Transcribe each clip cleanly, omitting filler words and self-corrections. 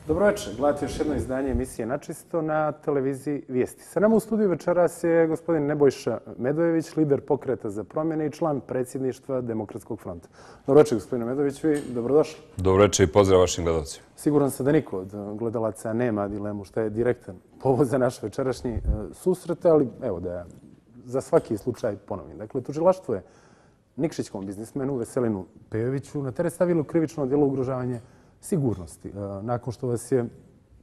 Dobroveče, gledate još jedno izdanje emisije Načisto na televiziji Vijesti. Sa nama u studiju večeras je gospodin Nebojša Medojević, lider Pokreta za promjene i član predsjedništva Demokratskog fronta. Dobroveče, gospodine Medojević, vi dobrodošli. Dobroveče i pozdrav vašim gledalcima. Siguran sam da niko od gledalaca nema dilemu šta je direktan povod za naš večerašnji susret, ali evo da ja za svaki slučaj ponovim. Dakle, tužilaštvo je Nikšićkom biznismenu Veselinu Pejoviću na teret stavilo krivično djelo ugrožavanje sigurnosti. Nakon što vas je,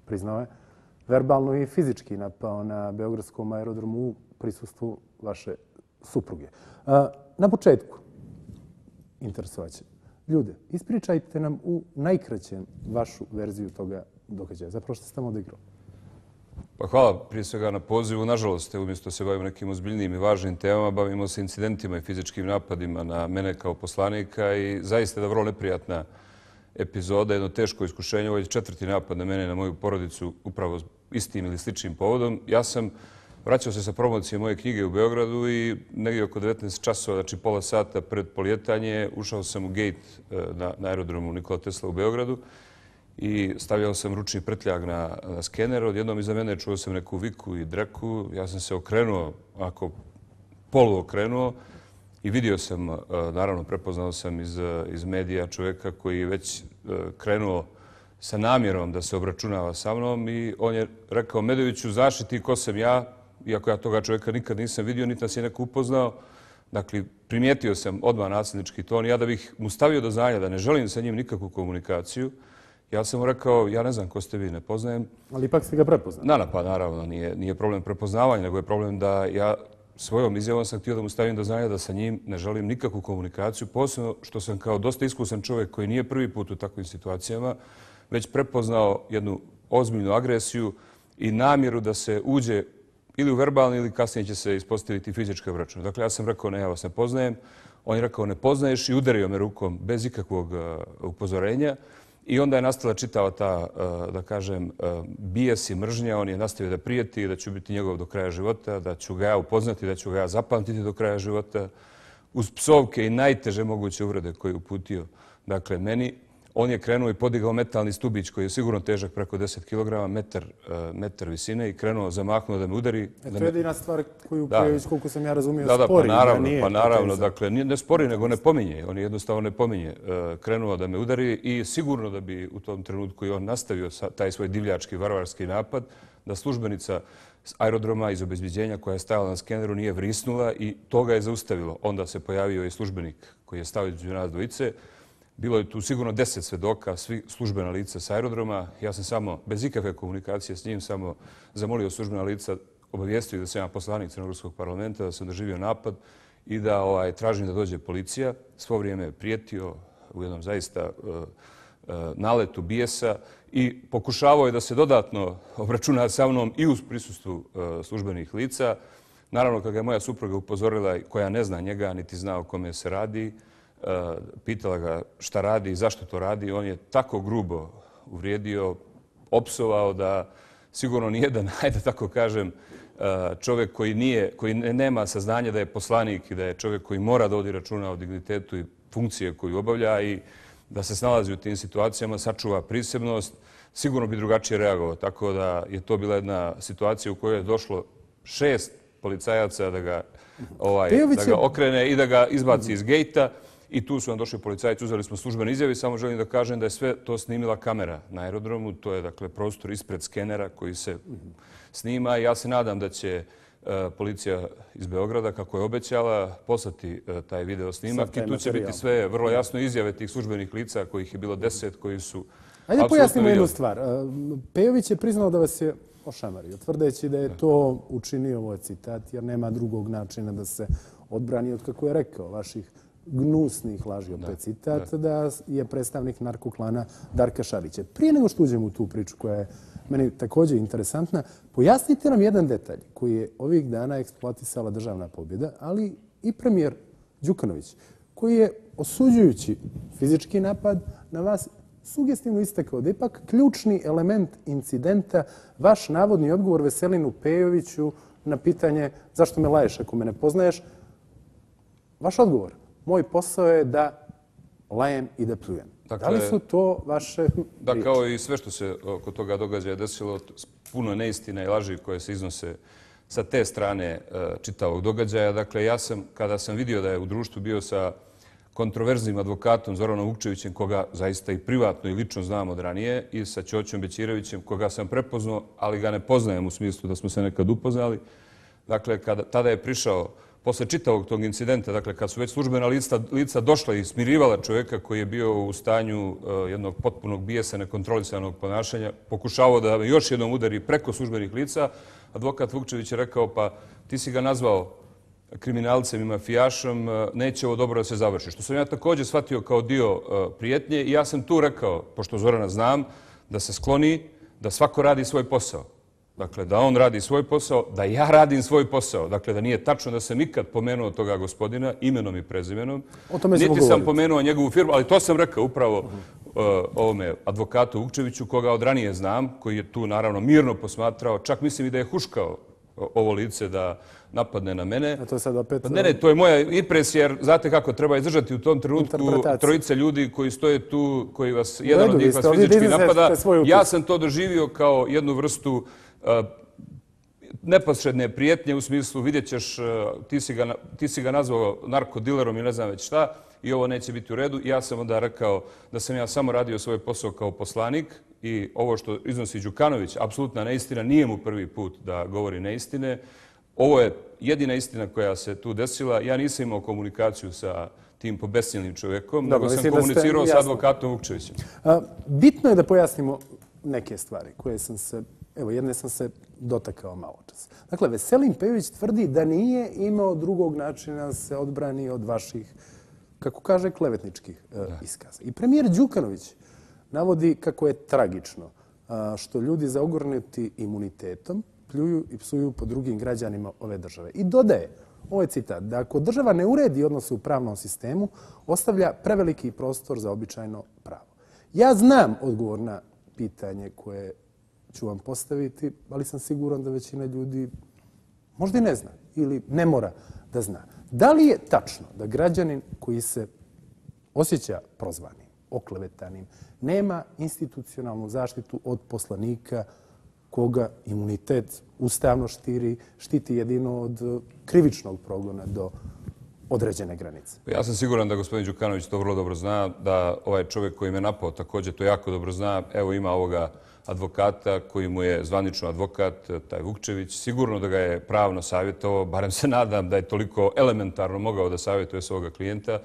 priznao je, verbalno i fizički napao na Beogradskom aerodromu u prisustvu vaše supruge. Na početku, interesovaće ljude, ispričajte nam u najkraćem vašu verziju toga događaja. Zapravo što ste tamo odigrali? Pa hvala prije svega na pozivu. Nažalost, umjesto se bavimo nekim ozbiljnim i važnim temama, bavimo se incidentima i fizičkim napadima na mene kao poslanika i zaista je vrlo neprijatna epizoda, jedno teško iskušenje. Ovo je 4. napad na mene i na moju porodicu upravo istim ili sličnim povodom. Ja sam vraćao se sa promocije moje knjige u Beogradu i negdje oko 19 časova, znači pola sata pred poljetanje, ušao sam u gate na aerodromu Nikola Tesla u Beogradu i stavljao sam ručni prtljag na skener. Odjednom iza mene čuo sam neku viku i dreku. Ja sam se okrenuo, ako poluokrenuo, i vidio sam, naravno prepoznao sam iz medija čovjeka koji je već krenuo sa namjerom da se obračunava sa mnom i on je rekao: Medojeviću, znaš li ti ko sam ja? Iako ja toga čovjeka nikad nisam vidio, niti nas je neko upoznao. Dakle, primijetio sam odmah nasilnički ton. Ja da bih mu stavio do znanja da ne želim sa njim nikakvu komunikaciju, ja sam mu rekao: ja ne znam ko ste vi, ne poznajem. Ali ipak ste ga prepoznali. Pa naravno, nije problem prepoznavanja, nego je problem da ja svojom izjavom sam htio da mu stavim do znanja da sa njim ne želim nikakvu komunikaciju, posebno što sam kao dosta iskusan čovjek koji nije prvi put u takvim situacijama, već prepoznao jednu ozbiljnu agresiju i namjeru da se uđe ili u verbalni ili kasnije će se ispostaviti fizičke obračune. Dakle, ja sam rekao: ne, ja vas ne poznajem. On je rekao: ne poznaješ, i udario me rukom bez ikakvog upozorenja. I onda je nastala čitava ta, da kažem, bijes i mržnja. On je nastavio da prijeti, da ću biti njegov do kraja života, da ću ga ja upoznati, da ću ga ja zapamtiti do kraja života, uz psovke i najteže moguće uvrede koje je uputio. Dakle, meni, on je krenuo i podigao metalni stubić koji je sigurno težak preko 10 kg, metar visine, i krenuo, zamahnuo da me udari. To je jedina stvar koju Pejović, koliko sam ja razumio, spori. Pa naravno, dakle, ne spori, nego ne pominje. On jednostavno ne pominje. Krenuo da me udari i sigurno da bi u tom trenutku i on nastavio taj svoj divljački, varvarski napad, da službenica aerodroma iz obezbeđenja koja je stajala na skeneru nije vrisnula i to ga je zaustavilo. Onda se pojavio i službenik koji je stavio između nas dvojice. Bilo je tu sigurno 10 svedoka, svi službena lica s aerodroma. Ja sam samo, bez ikakve komunikacije s njim, samo zamolio službena lica, obavijestio da sam ja poslanik Crnogorskog parlamenta, da sam doživio napad i da tražim da dođe policija. Svo vrijeme je prijetio u jednom zaista naletu bijesa i pokušavao je da se dodatno obračuna sa mnom i uz prisustvu službenih lica. Naravno, kad ga je moja supruga upozorila, koja ne zna njega, niti zna o kome se radi, pitala ga šta radi i zašto to radi, on je tako grubo uvrijedio, opsovao da sigurno nijedan, hajde tako kažem, čovjek koji nema saznanja da je poslanik i da je čovjek koji mora da vodi računa o dignitetu i funkcije koju obavlja i da se snalazi u tim situacijama, sačuva prisebnost, sigurno bi drugačije reagovao. Tako da je to bila jedna situacija u kojoj je došlo 6 policajaca da ga okrene i da ga izbaci iz gejta. I tu su nam došli policajci, uzeli smo službene izjave. Samo želim da kažem da je sve to snimila kamera na aerodromu. To je, dakle, prostor ispred skenera koji se snima. Ja se nadam da će policija iz Beograda, kako je obećala, poslati taj video snimak. I tu će biti sve vrlo jasno izjave tih službenih lica, kojih je bilo 10, koji su... Ajde pojasnimo jednu stvar. Pejović je priznao da vas je ošamario, tvrdeći da je to učinio, ovo je citat, jer nema drugog načina da se odbrani od, kako je rekao, vaših gnusnih laži, opet citat, da je predstavnik narkoklana Darka Šarića. Prije nego što uđemo u tu priču koja je meni također interesantna, pojasnite nam jedan detalj koji je ovih dana eksploatisala Državna pobjeda, ali i premijer Đukanović, koji je, osuđujući fizički napad na vas, sugestivno istakao da ipak ključni element incidenta vaš navodni odgovor Veselinu Pejoviću na pitanje zašto me laješ ako me ne poznaješ. Vaš odgovor: moj posao je da lajem i da pljujem. Da li su to vaše priče? Da, kao i sve što se oko toga događaja desilo, puno neistina i laži koje se iznose sa te strane čitavog događaja. Dakle, ja sam, kada sam vidio da je u društvu bio sa kontroverznim advokatom Zoranom Vukčevićem, koga zaista i privatno i lično znam od ranije, i sa Ćoćom Bećirevićem, koga sam prepoznao, ali ga ne poznajem u smislu da smo se nekad upoznali. Dakle, tada je prišao, posle čitavog tog incidenta, dakle, kad su već službena lica došla i smirivala čovjeka koji je bio u stanju jednog potpunog bijesa, nekontrolisanog ponašanja, pokušavao da me još jednom udari preko službenih lica, advokat Vukčević je rekao, pa ti si ga nazvao kriminalcem i mafijašom, neće ovo dobro da se završi. Što sam ja također shvatio kao dio prijetnje i ja sam tu rekao, pošto Zorana znam, da se skloni, da svako radi svoj posao. Dakle, da on radi svoj posao, da ja radim svoj posao. Dakle, da nije tačno da sam ikad pomenuo toga gospodina imenom i prezimenom. Niti sam pomenuo njegovu firmu, ali to sam rekao upravo ovome advokatu Vukčeviću, koga od ranije znam, koji je tu naravno mirno posmatrao. Čak mislim i da je huškao ovo lice da napadne na mene. A to je sad opet... Ne, to je moja impresija, jer znate kako treba izdržati u tom trenutku trojice ljudi koji stoje tu, koji vas, jedan od njih vas fizički napada. Ja sam to doživio kao jednu vrstu neposredne prijetnje u smislu vidjet ćeš, ti si ga nazvao narkodilerom i ne znam već šta i ovo neće biti u redu. Ja sam onda rekao da sam ja samo radio svoj posao kao poslanik i ovo što iznosi Đukanović, apsolutna neistina, nije mu prvi put da govori neistine. Ovo je jedina istina koja se tu desila. Ja nisam imao komunikaciju sa tim pobesnjelim čovjekom, nego sam komunicirao sa advokatom Vukčevićem. Bitno je da pojasnimo neke stvari koje sam se, evo jedne sam se dotakao malo čas. Dakle, Veselin Pejović tvrdi da nije imao drugog načina da se odbrani od vaših, kako kaže, klevetničkih iskaza. I premijer Đukanović navodi kako je tragično što ljudi zaogrnuti imunitetom pljuju i psuju po drugim građanima ove države. I dodaje, ovo je citat, da ako država ne uredi odnose u pravnom sistemu, ostavlja preveliki prostor za običajno pravo. Ja znam odgovor na pitanje koje ću vam postaviti, ali sam siguran da većina ljudi možda i ne zna ili ne mora da zna. Da li je tačno da građanin koji se osjeća prozvanim, oklevetanim, nema institucionalnu zaštitu od poslanika koga imunitet ustavno štiti jedino od krivičnog progona do određene granice? Ja sam siguran da gospodin Đukanović to vrlo dobro zna, da ovaj čovjek koji me napao također to jako dobro zna. Evo ima ovoga advokata koji mu je zvanično advokat, taj Vukčević. Sigurno da ga je pravno savjetovao, barem se nadam da je toliko elementarno mogao da savjetuje svoga klijenta,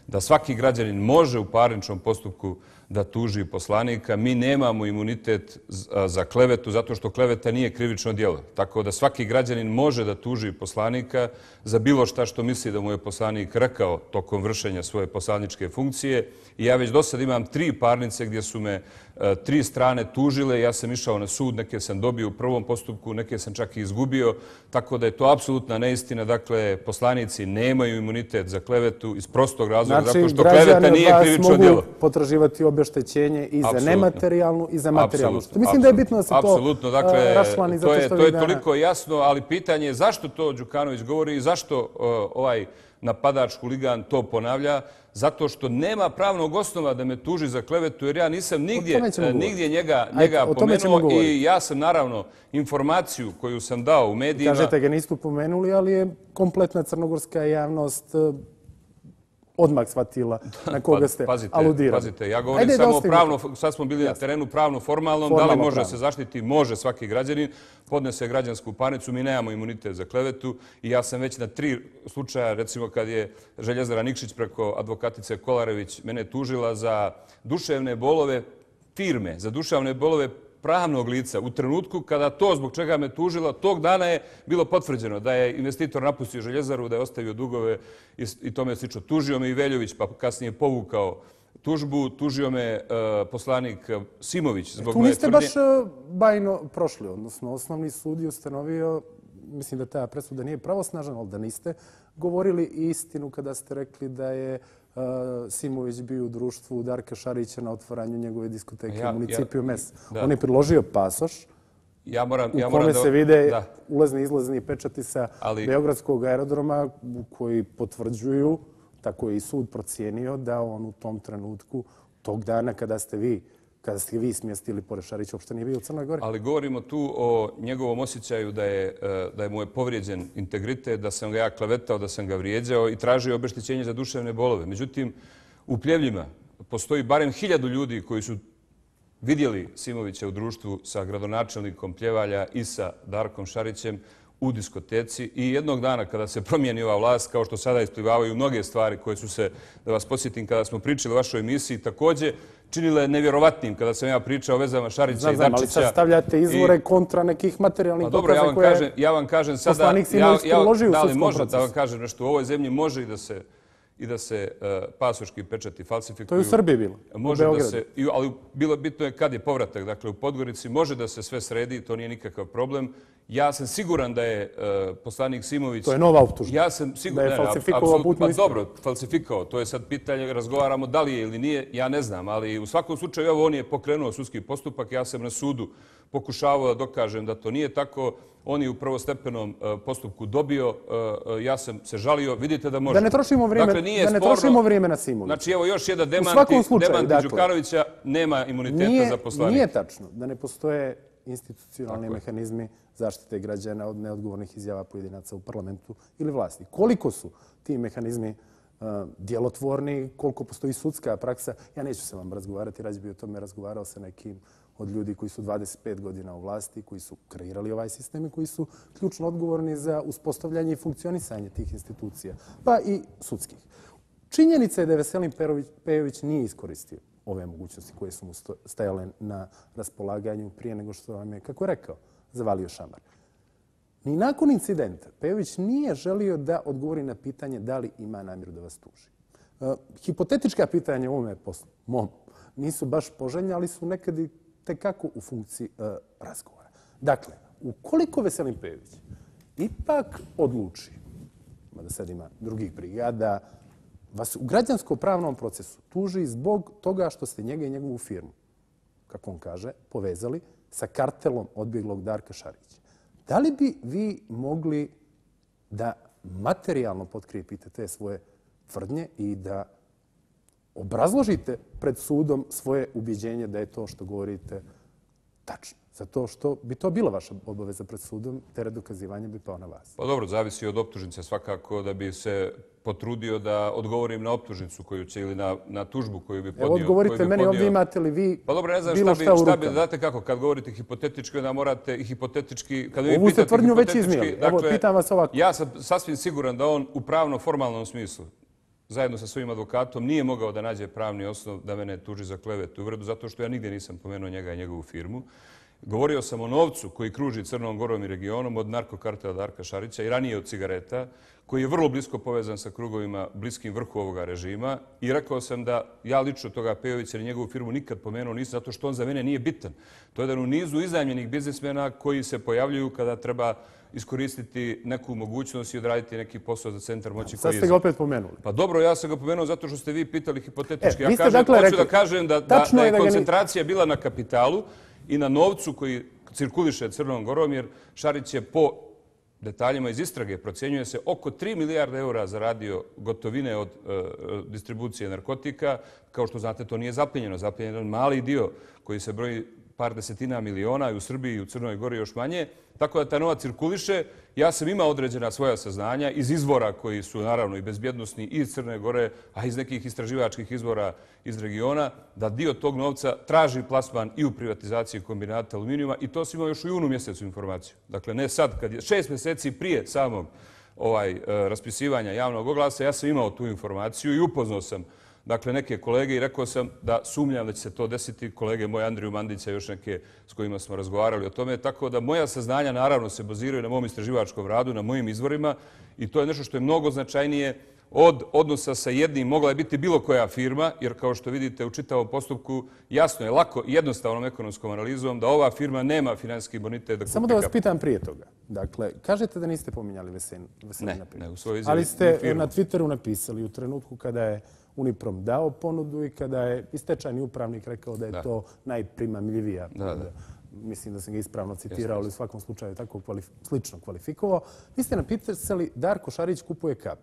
da svaki građanin može u parničnom postupku da tuži poslanika. Mi nemamo imunitet za klevetu zato što kleveta nije krivično djelo. Tako da svaki građanin može da tuži poslanika za bilo šta što misli da mu je poslanik rekao tokom vršenja svoje poslaničke funkcije. I ja već do sad imam 3 parnice gdje su me 3 strane tužile. Ja sam išao na sud, neke sam dobio u prvom postupku, neke sam čak i izgubio. Tako da je to apsolutna neistina. Dakle, poslanici nemaju imunitet za klevetu iz prostog razloga zato što kleveta nije krivično djelo. Znači, građani vas mogu potraživati obeštećenje i za nematerijalnu i za materijalnu. Mislim da je bitno da se to raščlani zato što to je toliko jasno, ali pitanje je zašto to Đukanović govori i zašto ovaj napadač, huligan to ponavlja. Zato što nema pravnog osnova da me tuži za klevetu, jer ja nisam nigdje njega pomenuo i ja sam naravno informaciju koju sam dao u medijima... Kažete ga niste pomenuli, ali je kompletna crnogorska javnost odmah shvatila na koga ste aludirali. Pazite, ja govorim samo pravno, sad smo bili na terenu pravno, formalno, da li može se zaštiti? Može svaki građanin, podnese građansku parnicu, mi nemamo imunitet za klevetu i ja sam već na 3 slučaja, recimo kad je Željezara Nikšić preko advokatice Kolarević mene tužila za duševne bolove firme, za duševne bolove pravnog lica. U trenutku kada to zbog čega me tužila, tog dana je bilo potvrđeno da je investitor napustio Željezaru, da je ostavio dugove i tome slično. Tužio me i Veljović, pa kasnije povukao tužbu. Tužio me poslanik Simović zbog moje tvrdnje. Tu niste baš bajno prošli, odnosno osnovni sud je ustanovio, mislim da ta presuda nije pravosnažna, ali da niste govorili istinu kada ste rekli da je Simović bio u društvu Darka Šarića na otvaranju njegove diskoteke u municipiju Mes. On je priložio pasoš u kome se vide ulazni i izlazni pečati sa Beogradskog aerodroma koji potvrđuju, tako je i sud procijenio, da on u tom trenutku tog dana kada ste vi smjestili pored Šarića, uopšte nije bio u Crnoj Gori. Ali govorimo tu o njegovom osjećaju da je mu je povrijeđen integritet, da sam ga ja klevetao, da sam ga vrijeđao i tražio obeštećenje za duševne bolove. Međutim, u Pljevljima postoji barem 1000 ljudi koji su vidjeli Simovića u društvu sa gradonačelnikom Pljevalja i sa Darkom Šarićem u diskoteci i jednog dana kada se promijeni ova vlast, kao što sada isplivavaju mnoge stvari koje su se, da vas podsjetim, kada smo pričali o vašoj emisiji, također činile nevjerovatnim kada sam ja pričao o vezama Šarića i Dačića. Ali sad stavljate izvore kontra nekih materijalnih dokaza koje ja vam kažem sada, poslanik Simović priložio u sudskom procesu. Da li može da vam kažem nešto, u ovoj zemlji može i da se pasoški pečati falsifikuju. To je u Srbiji bilo, u Beogradu. Ali bilo bitno je kad je povratak. Dakle, u Podgorici može da se sve sredi, to nije nikakav problem. Ja sam siguran da je poslanik Simović... To je nova optužba. Ja sam siguran da je falsifikovao putnu ispravu. Pa dobro, falsifikovao. To je sad pitanje, razgovaramo da li je ili nije, ja ne znam. Ali u svakom slučaju, evo, on je pokrenuo sudski postupak. Ja sam na sudu pokušavao da dokažem da to nije tako. On je u prvostepenom postupku dobio, ja sam se žalio, vidite da može. Da ne trošimo vrijeme na Simovića. Znači, evo još jedan demanti Đukanovića, nema imuniteta za poslanika. Nije tačno da ne postoje institucionalni mehanizmi zaštite građana od neodgovornih izjava pojedinaca u parlamentu ili vlasti. Koliko su ti mehanizmi djelotvorni, koliko postoji sudska praksa, ja neću se vam razgovarati, rađe bi o tome razgovarao sa nekim od ljudi koji su 25 godina u vlasti, koji su kreirali ovaj sistem i koji su ključno odgovorni za uspostavljanje i funkcionisanje tih institucija, pa i sudskih. Činjenica je da je Veselin Pejović nije iskoristio ove mogućnosti koje su mu stajale na raspolaganju prije nego što vam je, kako je rekao, zavalio šamar. Ni nakon incidenta Pejović nije želio da odgovori na pitanje da li ima namjeru da vas tuži. Hipotetička pitanja u ovome poslu, mom, nisu baš poželjne, ali su nekad i tekako u funkciji razgovora. Dakle, ukoliko Veselin Pejović ipak odluči, mada sad ima drugih brigada, vas u građansko-pravnom procesu tuži zbog toga što ste njega i njegovu firmu, kako on kaže, povezali sa kartelom odbjeglog Darka Šarića. Da li bi vi mogli da materijalno potkrijepite te svoje tvrdnje i da obrazložite pred sudom svoje ubjeđenje da je to što govorite tačno? Zato što bi to bila vaša obaveza pred sudom, teret dokazivanja bi pao na vas. Pa dobro, zavisi od optužnice svakako da bi se potrudio da odgovorim na optužnicu koju će ili na tužbu koju bi podnio. Evo odgovorite meni, ovdje imate li vi pa dobro, ne znam šta bi, znate kako, kad govorite hipotetički, onda morate i hipotetički... Ovu ste tvrdnju već iznijeli. Evo, pitam vas ovako. Ja sam sasvim siguran da on u pravno-formalnom smislu, zajedno sa svojim advokatom, nije mogao da nađe pravni osnov da mene tuži za klevetu i uvredu, zato što ja nigdje nisam pomenuo njega i njegovu firmu. Govorio sam o novcu koji kruži Crnom Gorom i regionom od narkokartela Darka Šarića i ranije od cigareta, koji je vrlo blisko povezan sa krugovima bliskim vrhu ovoga režima. I rekao sam da ja lično toga Pejovića ili njegovu firmu nikad pomenuo nisam, zato što on za mene nije bitan. To je jedan u nizu iznajmljenih biznismena koji se pojavljuju kada treba iskoristiti neku mogućnost i odraditi neki posao za centar moći. Sad ste ga opet pomenuli. Pa dobro, ja sam ga pomenuo zato što ste vi pitali hipotetički. Ja hoću da kažem da je koncentracija bila na kapitalu i na novcu koji cirkuliše Crnom Gorom, jer Šarić je po detaljima iz istrage procjenjuje se oko 3 milijarde eura zaradio gotovine od distribucije narkotika. Kao što znate, to nije zapljenjeno. Zapljenjen je mali dio koji se broji par desetina miliona i u Srbiji i u Crnoj Gori još manje. Tako da ta novac cirkuliše. Ja sam imao određena svoja saznanja iz izvora koji su naravno i bezbjednosni i iz Crne Gore, a iz nekih istraživačkih izvora iz regiona, da dio tog novca traži plasman i u privatizaciji kombinata aluminijuma i to sam imao još u junu mjesecu informaciju. Dakle, ne sad, kad je 6 mjeseci prije samog raspisivanja javnog oglasa, ja sam imao tu informaciju i upoznao sam neke kolege i rekao sam da sumnjam da će se to desiti. Kolege moje Andriju Mandića i još neke s kojima smo razgovarali o tome. Tako da moja saznanja naravno se baziraju na mom istraživačkom radu, na mojim izvorima i to je nešto što je mnogo značajnije od odnosa sa jednim. Mogla je biti bilo koja firma, jer kao što vidite u čitavom postupku jasno je lako i jednostavnom ekonomskom analizom da ova firma nema finansijski bonitet. Samo da vas pitam prije toga. Dakle, kažete da niste pominjali Veselina Pejovića. Ne, u svojoj izjavi. Ali ste na Twitteru napisali u trenutku kada je Uniprom dao ponudu i kada je stečajni upravnik rekao da je to najprimamljivija ponuda. Mislim da sam ga ispravno citirao, ali u svakom slučaju tako slično kvalifikovao. Vi ste napisali Darko Šarić kupuje kap.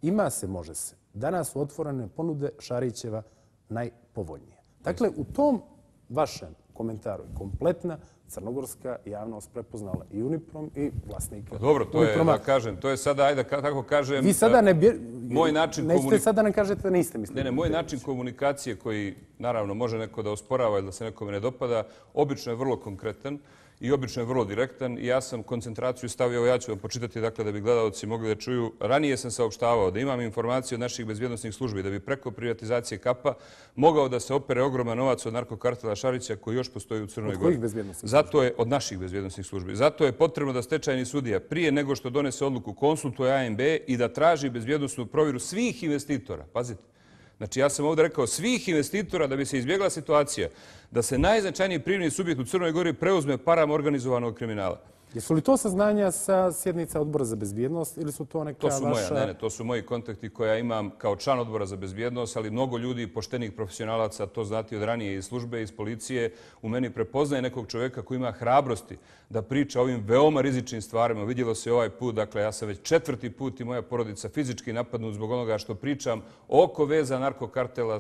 Ima se, može se. Danas su otvorene ponude Šarićeva najpovoljnije. Dakle, u tom vašem komentaru je kompletna crnogorska javnost prepoznala i Uniprom i vlasnika. Dobro, to je, da kažem, to je sada, ajde, kako kažem... Vi sada moj način nećete sada nam kažete da niste mislili. Ne, moj način komunikacije koji, naravno, može neko da osporava ili da se nekome ne dopada, obično je vrlo konkretan i obično je vrlo direktan i ja sam koncentraciju stavio, ja ću vam počitati, dakle, da bi gledalci mogli da čuju. Ranije sam saopštavao da imam informacije od naših bezbjednosnih službi da bi preko privatizacije KAP-a mogao da se opere ogroman novac od narkokartela Šarića koji još postoji u Crnoj Gori. Od kojih bezbjednosnih službi? Zato je od naših bezbjednosnih službi. Zato je potrebno da stečajni sudija prije nego što donese odluku konsultuje ANB i da traži bezbjednosnu provjeru svih investitora. Pazite. Znači, ja sam ovdje rekao svih investitora da bi se izbjegla situacija da se najznačajniji privredni subjekt u Crnoj Gori preuzme parama organizovanog kriminala. Jesu li to saznanja sa sjednica Odbora za bezbjednost ili su to neka vaša... To su moji kontakti koje ja imam kao član Odbora za bezbjednost, ali mnogo ljudi, poštenih profesionalaca, to znati od ranije iz službe, iz policije, u meni prepoznaje nekog čovjeka koji ima hrabrosti da priča o ovim veoma rizičnim stvarima. Vidjelo se ovaj put, dakle, ja sam već 4. put i moja porodica fizički napadnut zbog onoga što pričam oko veza narkokartela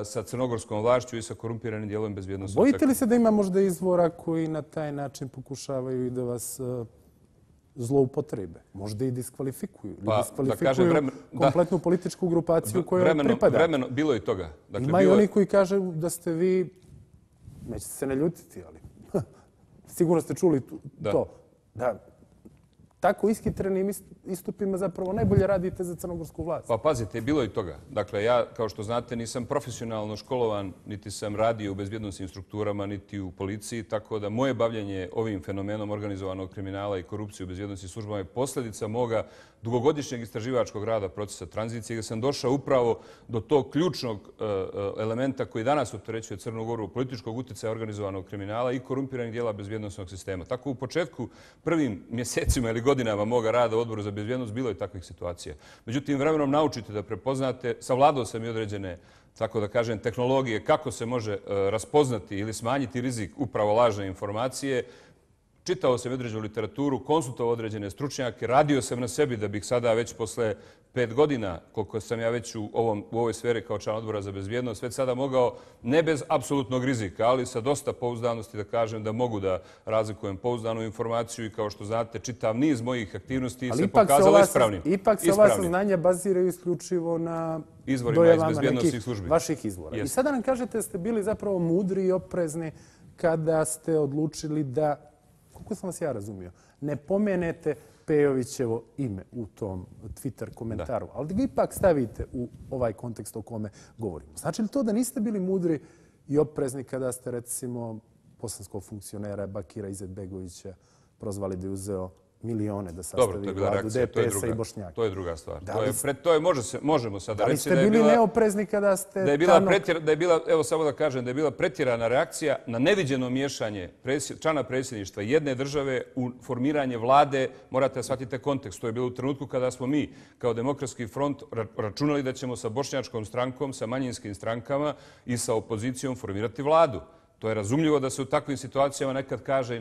sa crnogorskom vlašću i sa korumpiranim dijelom bezbjednosti. Bojite li se da ima možda izvora koji na taj način pokušavaju i da vas zloupotrebe? Možda i diskvalifikuju. Diskvalifikuju kompletnu političku grupaciju kojoj pripada. Bilo je toga. Ima i oni koji kažu da ste vi, nećete se ne ljutiti, ali sigurno ste čuli to. Da tako ishitrenim istupima zapravo najbolje radite za crnogorsku vlast. Pa pazite, bilo je toga. Dakle, ja, kao što znate, nisam profesionalno školovan, niti sam radio u bezbjednosnim strukturama, niti u policiji, tako da moje bavljenje ovim fenomenom organizovanog kriminala i korupcije u bezbjednosnim službama je posljedica moga dugogodišnjeg istraživačkog rada procesa tranzicije, gdje sam došao upravo do tog ključnog elementa koji danas opterećuje Crnu Goru, političkog utjecaja organizovanog kriminala i korumpiranih dijela bezbjednosnog sistema. Tako u početku, prvim mjesecima ili godinama moga rada u Odboru za bezbjednost bilo je takvih situacija. Međutim, vremenom naučite da prepoznate, savladao sam i određene, tako da kažem, tehnologije kako se može raspoznati ili smanjiti rizik upravo lažne informacije. Čitao sam određenu literaturu, konsultovao određene stručnjake, radio sam na sebi da bih sada već posle 5 godina, koliko sam ja već u ovoj sferi kao član Odbora za bezbjednost, već sada mogao, ne bez apsolutnog rizika, ali sa dosta pouzdanosti da kažem da mogu da razlikujem pouzdanu informaciju i kao što znate, čitav niz mojih aktivnosti se pokazalo ispravnim. Ipak se ova saznanja baziraju isključivo na dojavama nekih vaših izvora. I sada nam kažete da ste bili zapravo mudri i oprezni kada ste odlučili da, kako sam vas ja razumio, ne pomenete Pejovićevo ime u tom Twitter komentaru, ali da ga ipak stavite u ovaj kontekst o kome govorimo. Znači li to da niste bili mudri i oprezni kada ste, recimo, bosanskog funkcionera Bakira Izetbegovića prozvali da je uzeo milione da sastavi vladu DPS-a i Bošnjaka? To je druga stvar. Možemo sada reći da ste bili neoprezni kada ste... Evo samo da kažem da je bila pretjerana reakcija na neviđeno miješanje člana predsjedništva jedne države u formiranje vlade. Morate shvatiti kontekst. To je bilo u trenutku kada smo mi kao Demokratski front računali da ćemo sa bošnjačkom strankom, sa manjinskim strankama i sa opozicijom formirati vladu. To je razumljivo da se u takvim situacijama nekad kaže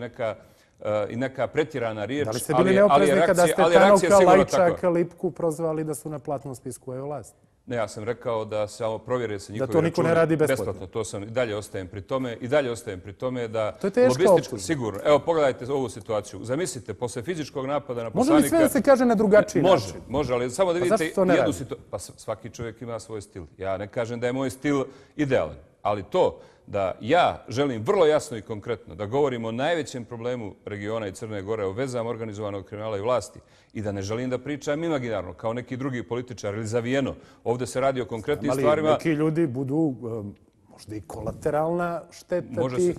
i neka pretjerana riječ. Da li ste bili neoprezni kada ste Tanuka, Lajčaka, Lipku prozvali da su na platnom spisku ove vlasti? Ne, ja sam rekao da samo provjere se njihovi računi. Da to niko ne radi besplatno. To sam i dalje ostajem pri tome. Da to je teška optužba. Sigurno. Evo, pogledajte ovu situaciju. Zamislite, posle fizičkog napada na poslanika... Može li sve da se kaže na drugačiji način? Može, ali samo da vidite jednu situaciju. Pa svaki čovjek ima svoj stil. Ja ne kažem da je moj stil idealan, ali to da ja želim vrlo jasno i konkretno da govorim o najvećem problemu regiona i Crne Gore, o vezama organizovanog kriminala i vlasti i da ne želim da pričam imaginarno kao neki drugi političar ili zavijeno. Ovdje se radi o konkretnim stvarima. Ali neki ljudi budu možda i kolateralna šteta tih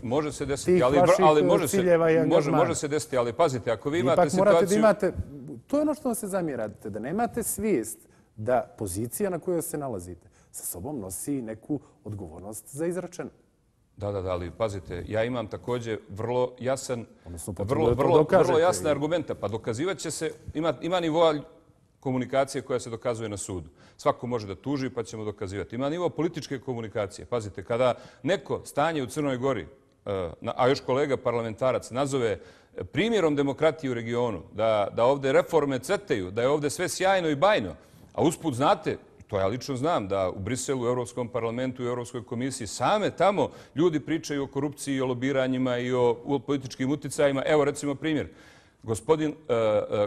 vaših ciljeva i angažmana. Može se desiti, ali pazite, ako vi imate situaciju... Morate da imate, to je ono što vam se zamjerate, da nemate svijest da pozicija na kojoj se nalazite sa sobom nosi neku odgovornost za izrečeno. Da, ali pazite, ja imam također vrlo jasne argumente. Pa dokazivat će se, ima nivoa komunikacije koja se dokazuje na sudu. Svako može da tuži pa ćemo dokazivati. Ima nivo političke komunikacije. Pazite, kada neko stanje u Crnoj Gori, a još kolega parlamentarac, nazove primjerom demokratije u regionu, da ovdje reforme cvetaju, da je ovdje sve sjajno i bajno, a usput znate, to ja lično znam, da u Briselu, u Europskom parlamentu i u Europskoj komisiji same tamo ljudi pričaju o korupciji, o lobiranjima i o političkim uticajima. Evo recimo primjer. Gospodin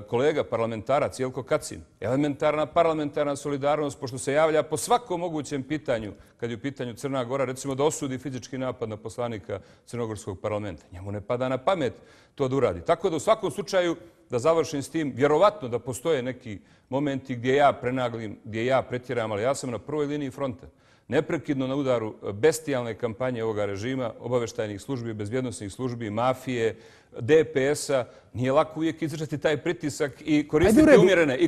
kolega parlamentarac Jelko Kacin, elementarna parlamentarna solidarnost, pošto se javlja po svakom mogućem pitanju, kad je u pitanju Crna Gora, recimo da osudi fizički napad na poslanika Crnogorskog parlamenta. Njemu ne pada na pamet to da uradi. Tako da u svakom slučaju, da završim s tim, vjerovatno da postoje neki momenti gdje ja prenaglim, gdje ja pretjeram, ali ja sam na prvoj liniji fronta. Neprekidno na udaru bestijalne kampanje ovoga režima, obavještajnih službi, bezbjednosnih službi, mafije, DPS-a. Nije lako uvijek izdržati taj pritisak i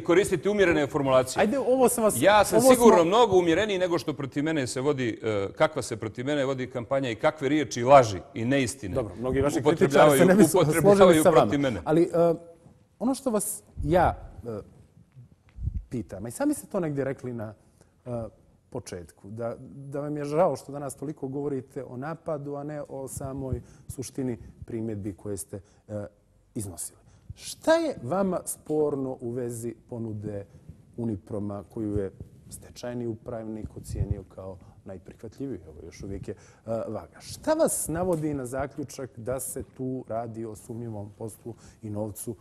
koristiti umjerene formulacije. Ajde, ovo sam vas... Ja sam sigurno mnogo umjereniji nego što protiv mene se vodi, kakva se protiv mene vodi kampanja i kakve riječi, laži i neistine Dobro, mnogi vaši kritičari se ne bi složili sa vama. Mene. Ali ono što vas ja pitam, i sami ste to negdje rekli na početku, da vam je žao što danas toliko govorite o napadu, a ne o samoj suštini primjedbi koje ste iznosili. Šta je vama sporno u vezi ponude Uniproma koju je stečajni upravnik ocijenio kao najprihvatljiviju? Evo, još uvijek je vaga. Šta vas navodi na zaključak da se tu radi o sumnjivom poslu i novcu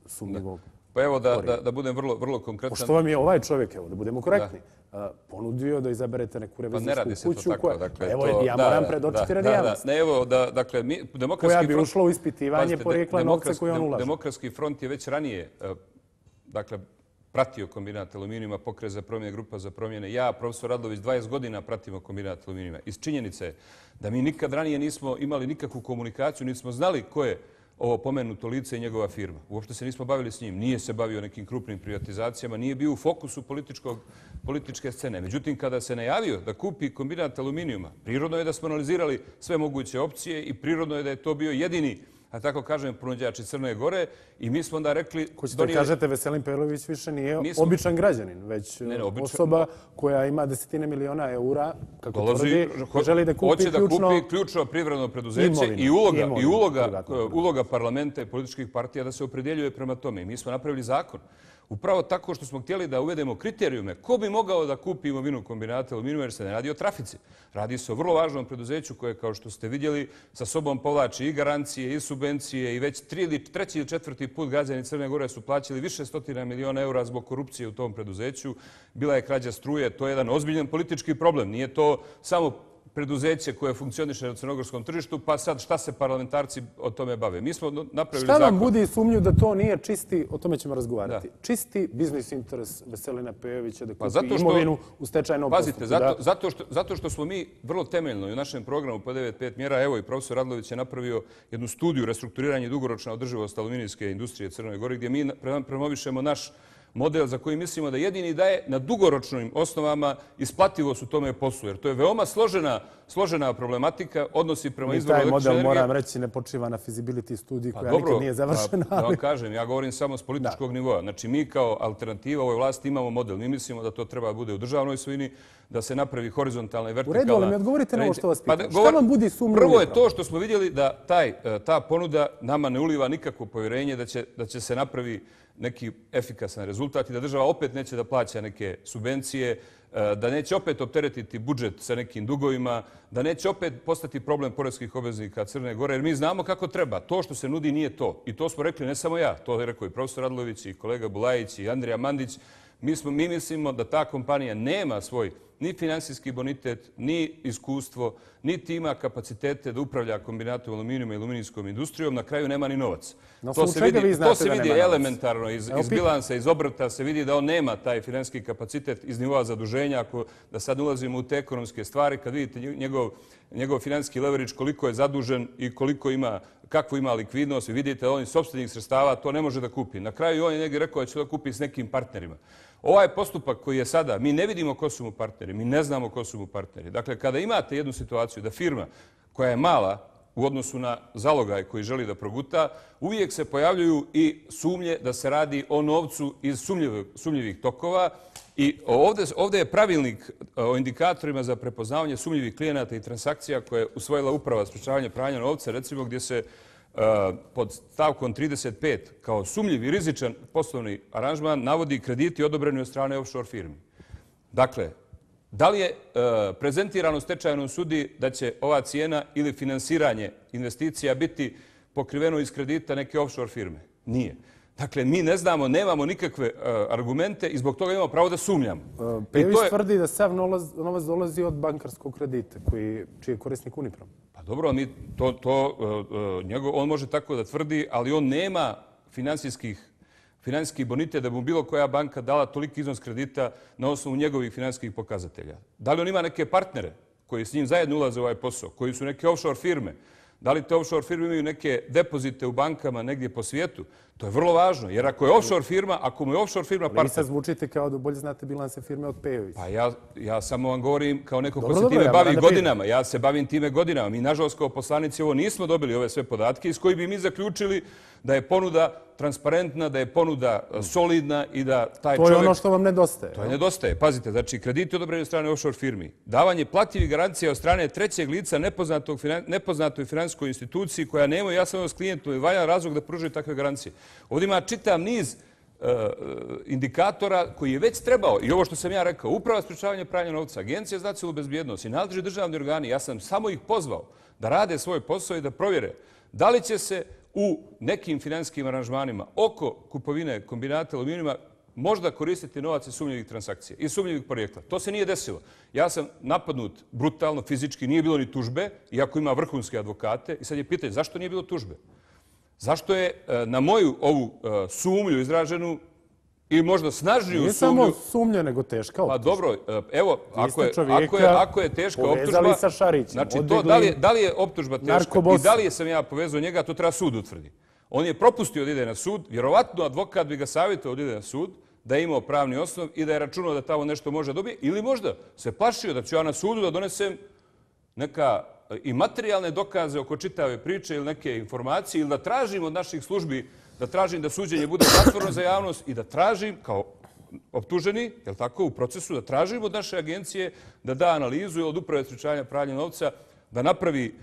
sumnjivog? Pa evo da budem vrlo konkretan. Pošto vam je ovaj čovjek, evo da budemo korektni, ponudio da izaberete neku revizijsku kuću koja... Evo, ja moram predočiti radi javnosti. Ne, evo, dakle, koja bi ušla u ispitivanje porijekla novca koje on ulaže. Demokratski front je već ranije, dakle, pratio kombinat aluminijuma, Pokret za promjene, Grupa za promjene. Ja, profesor Radlović, 20 godina pratimo kombinat aluminijuma. Iz činjenice je da mi nikad ranije nismo imali nikakvu komunikaciju, nismo znali ko je ovo pomenuto lice i njegova firma. Uopšte se nismo bavili s njim. Nije se bavio nekim krupnim privatizacijama, nije bio u fokusu političke scene. Međutim, kada se najavio da kupi kombinat aluminijuma, prirodno je da smo analizirali sve moguće opcije i prirodno je da je to bio jedini, a tako kažem, ponuđač iz Crne Gore i mi smo onda rekli... Hoćete kažete, Veselin Perović više nije običan građanin, već osoba koja ima desetine miliona eura, kako tvrdi, želi da kupi ključno privredno preduzeće i uloga parlamenta i političkih partija da se opredjeljuje prema tome. I mi smo napravili zakon. Upravo tako što smo htjeli da uvedemo kriterijume ko bi mogao da kupi imovinu kombinata aluminijuma, jer se ne radi o trafici. Radi se o vrlo važnom preduzeću koje, kao što ste vidjeli, sa sobom povlači i garancije i subvencije i već treći ili četvrti put građani Crne Gore su plaćali više stotina miliona eura zbog korupcije u tom preduzeću. Bila je krađa struje, to je jedan ozbiljan politički problem. Nije to samo preduzeće koje funkcioniše na crnogorskom tržištu, pa sad šta se parlamentarci o tome bave? Mi smo napravili zakon. Šta vam budi sumnju da to nije čisti, o tome ćemo razgovarati, čisti biznis interes Veselina Pejovića da kupi imovinu u stečajnom postupku? Pazite, zato što smo mi vrlo temeljno i u našem programu po 9.5 mjera, evo i profesor Radlović je napravio jednu studiju restrukturiranja i dugoročna održivost aluminijske industrije Crnoj Gori, gdje mi promovišemo naš model za koji mislimo da jedini daje na dugoročnim osnovama isplativost u tome poslu. Jer to je veoma složena problematika, odnosi prema izvoru električne energije. Taj model, moram reći, ne počiva na feasibility studiji koja nikad nije završena. Da vam kažem, ja govorim samo s političkog nivoa. Znači, mi kao alternativa ovoj vlasti imamo model. Mi mislimo da to treba bude u državnoj svojini, da se napravi horizontalna i vertikalna... U redu, ali mi odgovorite na ovo što vas pitam. Šta vam budi sumnjivo? Prvo je to što smo vidjeli da ta ponuda nama ne uliva nikakvo povjerenje da će se napravi neki efikasan rezultat i da država opet neće da plaća neke subvencije, da neće opet opteretiti budžet sa nekim dugovima, da neće opet postati problem poreskih obveznika Crne Gore, jer mi znamo kako treba. To što se nudi nije to. I to smo rekli ne samo ja, to je rekao i profesor Radlović i kolega Bulajić i Andrija Mandić. Mi mislimo da ta kompanija nema svoj ni finansijski bonitet, ni iskustvo, niti ima kapacitete da upravlja kombinatom aluminijuma i aluminijskom industrijom, na kraju nema ni novac. To se vidi elementarno iz bilansa, iz obrta, se vidi da on nema taj finansijski kapacitet iz nivoa zaduženja. Da sad ulazimo u te ekonomske stvari, kad vidite njegov finansijski leverage, koliko je zadužen i kakvu ima likvidnost, vi vidite da on iz sopstvenih sredstava to ne može da kupi. Na kraju on je negdje rekao da će to kupi s nekim partnerima. Ovaj postupak koji je sada, mi ne vidimo ko su mu partneri, mi ne znamo ko su mu partneri. Dakle, kada imate jednu situaciju da firma koja je mala u odnosu na zalogaj koji želi da proguta, uvijek se pojavljuju i sumnje da se radi o novcu iz sumnjivih tokova. I ovdje je pravilnik o indikatorima za prepoznavanje sumnjivih klijenata i transakcija koje je usvojila Uprava sprečavanja pranja novca, recimo gdje se pod stavkom 35 kao sumnjiv i rizičan poslovni aranžman navodi krediti odobreni od strane offshore firmi. Dakle, da li je prezentirano stečajnom sudi da će ova cijena ili finansiranje investicija biti pokriveno iz kredita neke offshore firme? Nije. Dakle, mi ne znamo, nemamo nikakve argumente i zbog toga imamo pravo da sumnjamo. Pejović tvrdi da sav novac dolazi od bankarskog kredita, čiji je korisnik Uniprom. Pa dobro, on može tako da tvrdi, ali on nema finansijski bonitet da bi mu bilo koja banka dala toliki iznos kredita na osnovu njegovih finansijskih pokazatelja. Da li on ima neke partnere koji s njim zajedno ulaze u ovaj posao, koji su neke offshore firme? Da li te offshore firme imaju neke depozite u bankama negdje po svijetu? To je vrlo važno, jer ako mu je offshore firma partner... Vi sad zvučite kao da bolje znate bilanse firme od Pejovića. Pa ja samo vam govorim kao neko ko se time bavi godinama. Ja se bavim time godinama. Mi, nažalost, kao poslanici ovo nismo dobili ove sve podatke iz kojih bi mi zaključili da je ponuda transparentna, da je ponuda solidna i da taj čovjek... To je ono što vam nedostaje. To je nedostaje. Pazite, znači krediti odobreni od strane offshore firmi, davanje plativih garancija od strane trećeg lica nepoznatoj finansijskoj instituciji koja nema jasan odnos s klijentom i valjan razlog da pruži takve garancije. Ovdje ima čitav niz indikatora koji je već trebao, i ovo što sam ja rekao, Uprava sprečavanja pranja novca, Agencija za nacionalnu bezbjednost i nadležni državni organi, ja sam samo ih pozvao da rade svoj posao i da provjere da li će se u nekim finansijskim aranžmanima oko kupovine kombinata aluminijuma možda koristiti novac iz sumnjivih transakcija, iz sumnjivih porijekla. To se nije desilo. Ja sam napadnut brutalno, fizički, nije bilo ni tužbe, iako ima vrhunske advokate. I sad je pitanje, zašto nije bilo tužbe? Zašto je na moju ovu sumnju izraženu i možda snažniju nije sumnju... Nije samo sumnja, nego teška optužba. Pa dobro, evo, ako je teška povezali sa Šarićem. Znači, da li je optužba teška i da li sam ja povezao njega, to treba sud utvrdi. On je propustio da ide na sud, vjerovatno advokat bi ga savjetovao da ide na sud, da je imao pravni osnov i da je računao da tamo nešto može dobiti, ili možda se plašio da ću ja na sudu da donesem neka i materijalne dokaze oko čitave priče ili neke informacije ili da tražim od naših službi, da tražim da suđenje bude zatvoreno za javnost i da tražim kao optuženi, jel tako, u procesu, da tražim od naše agencije da da analizu od Uprave sprečavanja pranja novca, da napravi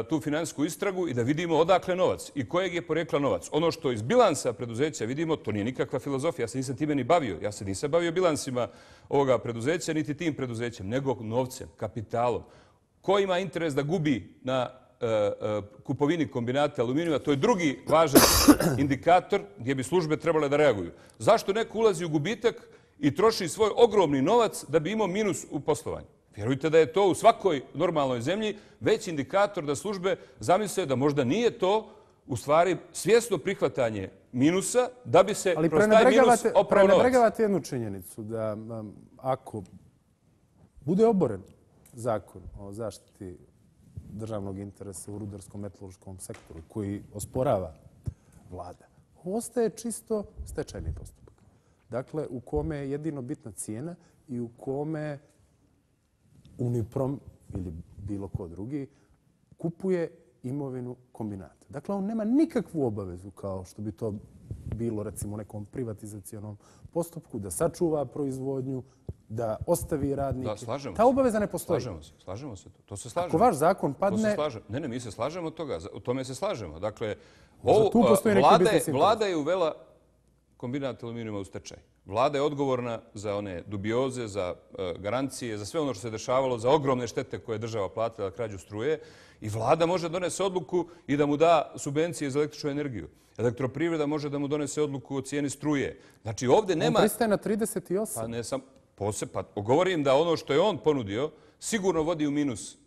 tu finansijsku istragu i da vidimo odakle novac i kojeg je porekla novac. Ono što iz bilansa preduzeća vidimo, to nije nikakva filozofija, ja se nisam time ni bavio. Ja se nisam bavio bilansima ovoga preduzeća, niti tim preduzećem, nego novcem, kapitalom. Ko ima interes da gubi na kupovini kombinata aluminijuma, to je drugi važan indikator gdje bi službe trebale da reaguju. Zašto neko ulazi u gubitak i troši svoj ogromni novac da bi imao minus u poslovanju? Vjerujte da je to u svakoj normalnoj zemlji već indikator da službe zamisle da možda nije to u stvari svjesno prihvatanje minusa da bi se kroz taj minus oprao novac. Ali prenebregavate jednu činjenicu da ako bude oboren zakon o zaštiti državnog interesa u rudarsko-metaloškom sektoru koji osporava vlada, ostaje čisto stečajni postupak. Dakle, u kome je jedino bitna cijena i u kome Uniprom ili bilo ko drugi kupuje imovinu kombinata. Dakle, on nema nikakvu obavezu kao što bi to bilo recimo u nekom privatizacionom postupku da sačuva proizvodnju, da ostavi radnike. Da, slažemo se. Ta obaveza ne postoji. Slažemo se. To se slažemo. Ako vaš zakon padne... Ne, mi se slažemo od toga. O tome se slažemo. Dakle, vlada je uvela kombinat aluminijuma u stečaj. Vlada je odgovorna za one dubioze, za garancije, za sve ono što se dešavalo, za ogromne štete koje je država platila krađu struje. I vlada može da donese odluku i da mu da subvencije za električnu energiju. Elektroprivreda može da mu donese odluku o cijeni struje. Znači, ovdje nema... On pristaje na 38. Pa ne sam... Pa govorim da ono što je on ponudio sigurno vodi u minus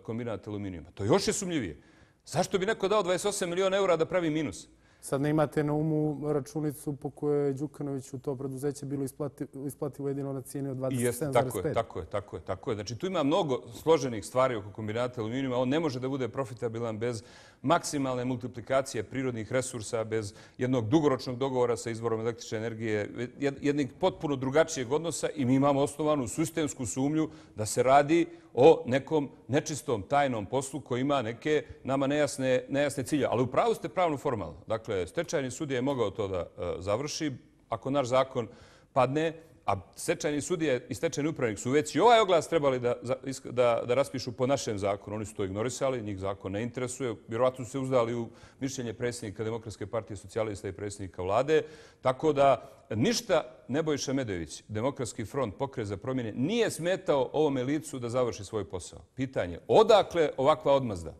kombinat aluminijuma. To još je sumnjivije. Zašto bi neko dao 28 miliona eura da pravi minus? Sad ne imate na umu računicu po kojoj je Đukanoviću to preduzeće bilo isplativo jedino na cijeni od 27,5. Tako je. Znači, tu ima mnogo složenih stvari oko kombinata aluminijuma. On ne može da bude profitabilan bez maksimalne multiplikacije prirodnih resursa, bez jednog dugoročnog dogovora sa izvorom električne energije, jednog potpuno drugačijeg odnosa i mi imamo osnovanu sistemsku sumnju da se radi o nekom nečistom tajnom poslu koji ima neke nama nejasne cilje. Ali upravo ste pravno formalno. Dakle, stečajni sudija je mogao to da završi. Ako naš zakon padne, a stečajni sudije i stečajni upravnik su već i ovaj oglas trebali da raspišu po našem zakonu. Oni su to ignorisali, njih zakon ne interesuje. Vjerovatno su se uzdali u mišljenje predsjednika Demokratske partije socijalista i predsjednika vlade. Tako da ništa Nebojša Medojević, Demokratski front, Pokret za promjene, nije smetao ovome licu da završi svoj posao. Pitanje, odakle ovakva odmazda?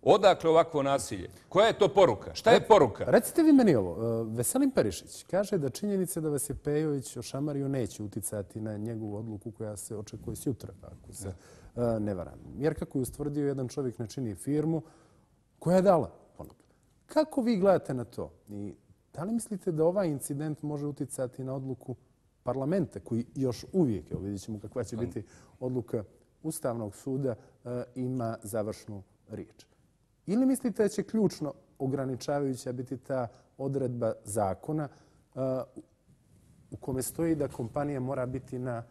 Odakle ovakvo nasilje? Koja je to poruka? Šta je poruka? Recite vi meni ovo. Veselin Perišić kaže da činjenica da vas je Pejović ošamario neće uticati na njegovu odluku koja se očekuje sutra, ako se ne varam. Jer kako je ustvrdio, jedan čovjek ne čini firmu koja je dala ponudu. Kako vi gledate na to? I da li mislite da ovaj incident može uticati na odluku parlamenta, koji još uvijek, evo vidjet ćemo kakva će biti odluka Ustavnog suda, ima završnu riječ? Ili mislite da će ključno ograničavajuća biti ta odredba zakona u kome stoji da kompanija mora biti na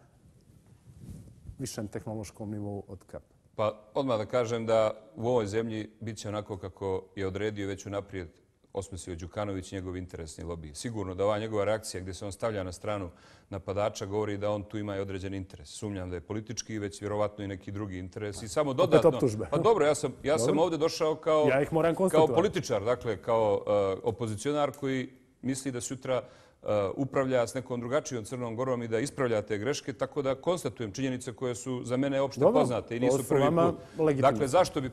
višem tehnološkom nivou od KAP? Pa odmah da kažem da u ovoj zemlji bit će onako kako je odredio već unaprijed osmislio Đukanović i njegov interesni lobij. Sigurno da ova njegova reakcija gdje se on stavlja na stranu napadača govori da on tu ima i određen interes. Sumnjam da je politički, već vjerovatno i neki drugi interes. I samo dodatno... Opet optužbe. Pa dobro, ja sam ovdje došao kao političar, dakle kao opozicionar koji misli da sutra upravlja s nekom drugačijom Crnom Gorom i da ispravlja te greške, tako da konstatujem činjenice koje su za mene opšte poznate i nisu prvi put. Dakle, zašto bi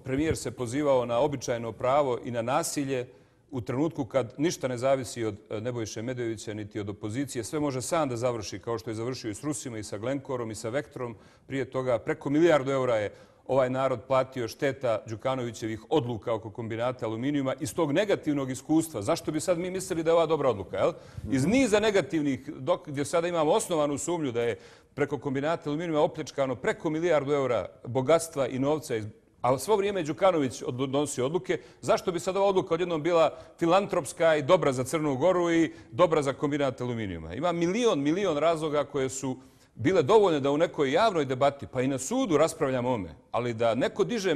premijer se pozivao na običajno pravo i na nasilje u trenutku kad ništa ne zavisi od Nebojše Medojevića niti od opozicije, sve može sam da završi kao što je završio i s Rusima i sa Glencorom i sa Vectrom. Prije toga preko milijardu eura je ovaj narod platio šteta Đukanovićevih odluka oko kombinata aluminijuma iz tog negativnog iskustva. Zašto bi sad mi mislili da je ova dobra odluka? Jel? Iz niza negativnih, gdje sada imamo osnovanu sumnju da je preko kombinata aluminijuma opljačkano preko milijardu eura bogatstva i novca, a svo vrijeme Đukanović donosi odluke, zašto bi sad ova odluka odjednom bila filantropska i dobra za Crnu Goru i dobra za kombinat aluminijuma? Ima milion razloga koje su bile dovoljne da u nekoj javnoj debati, pa i na sudu raspravljamo o ome, ali da neko diže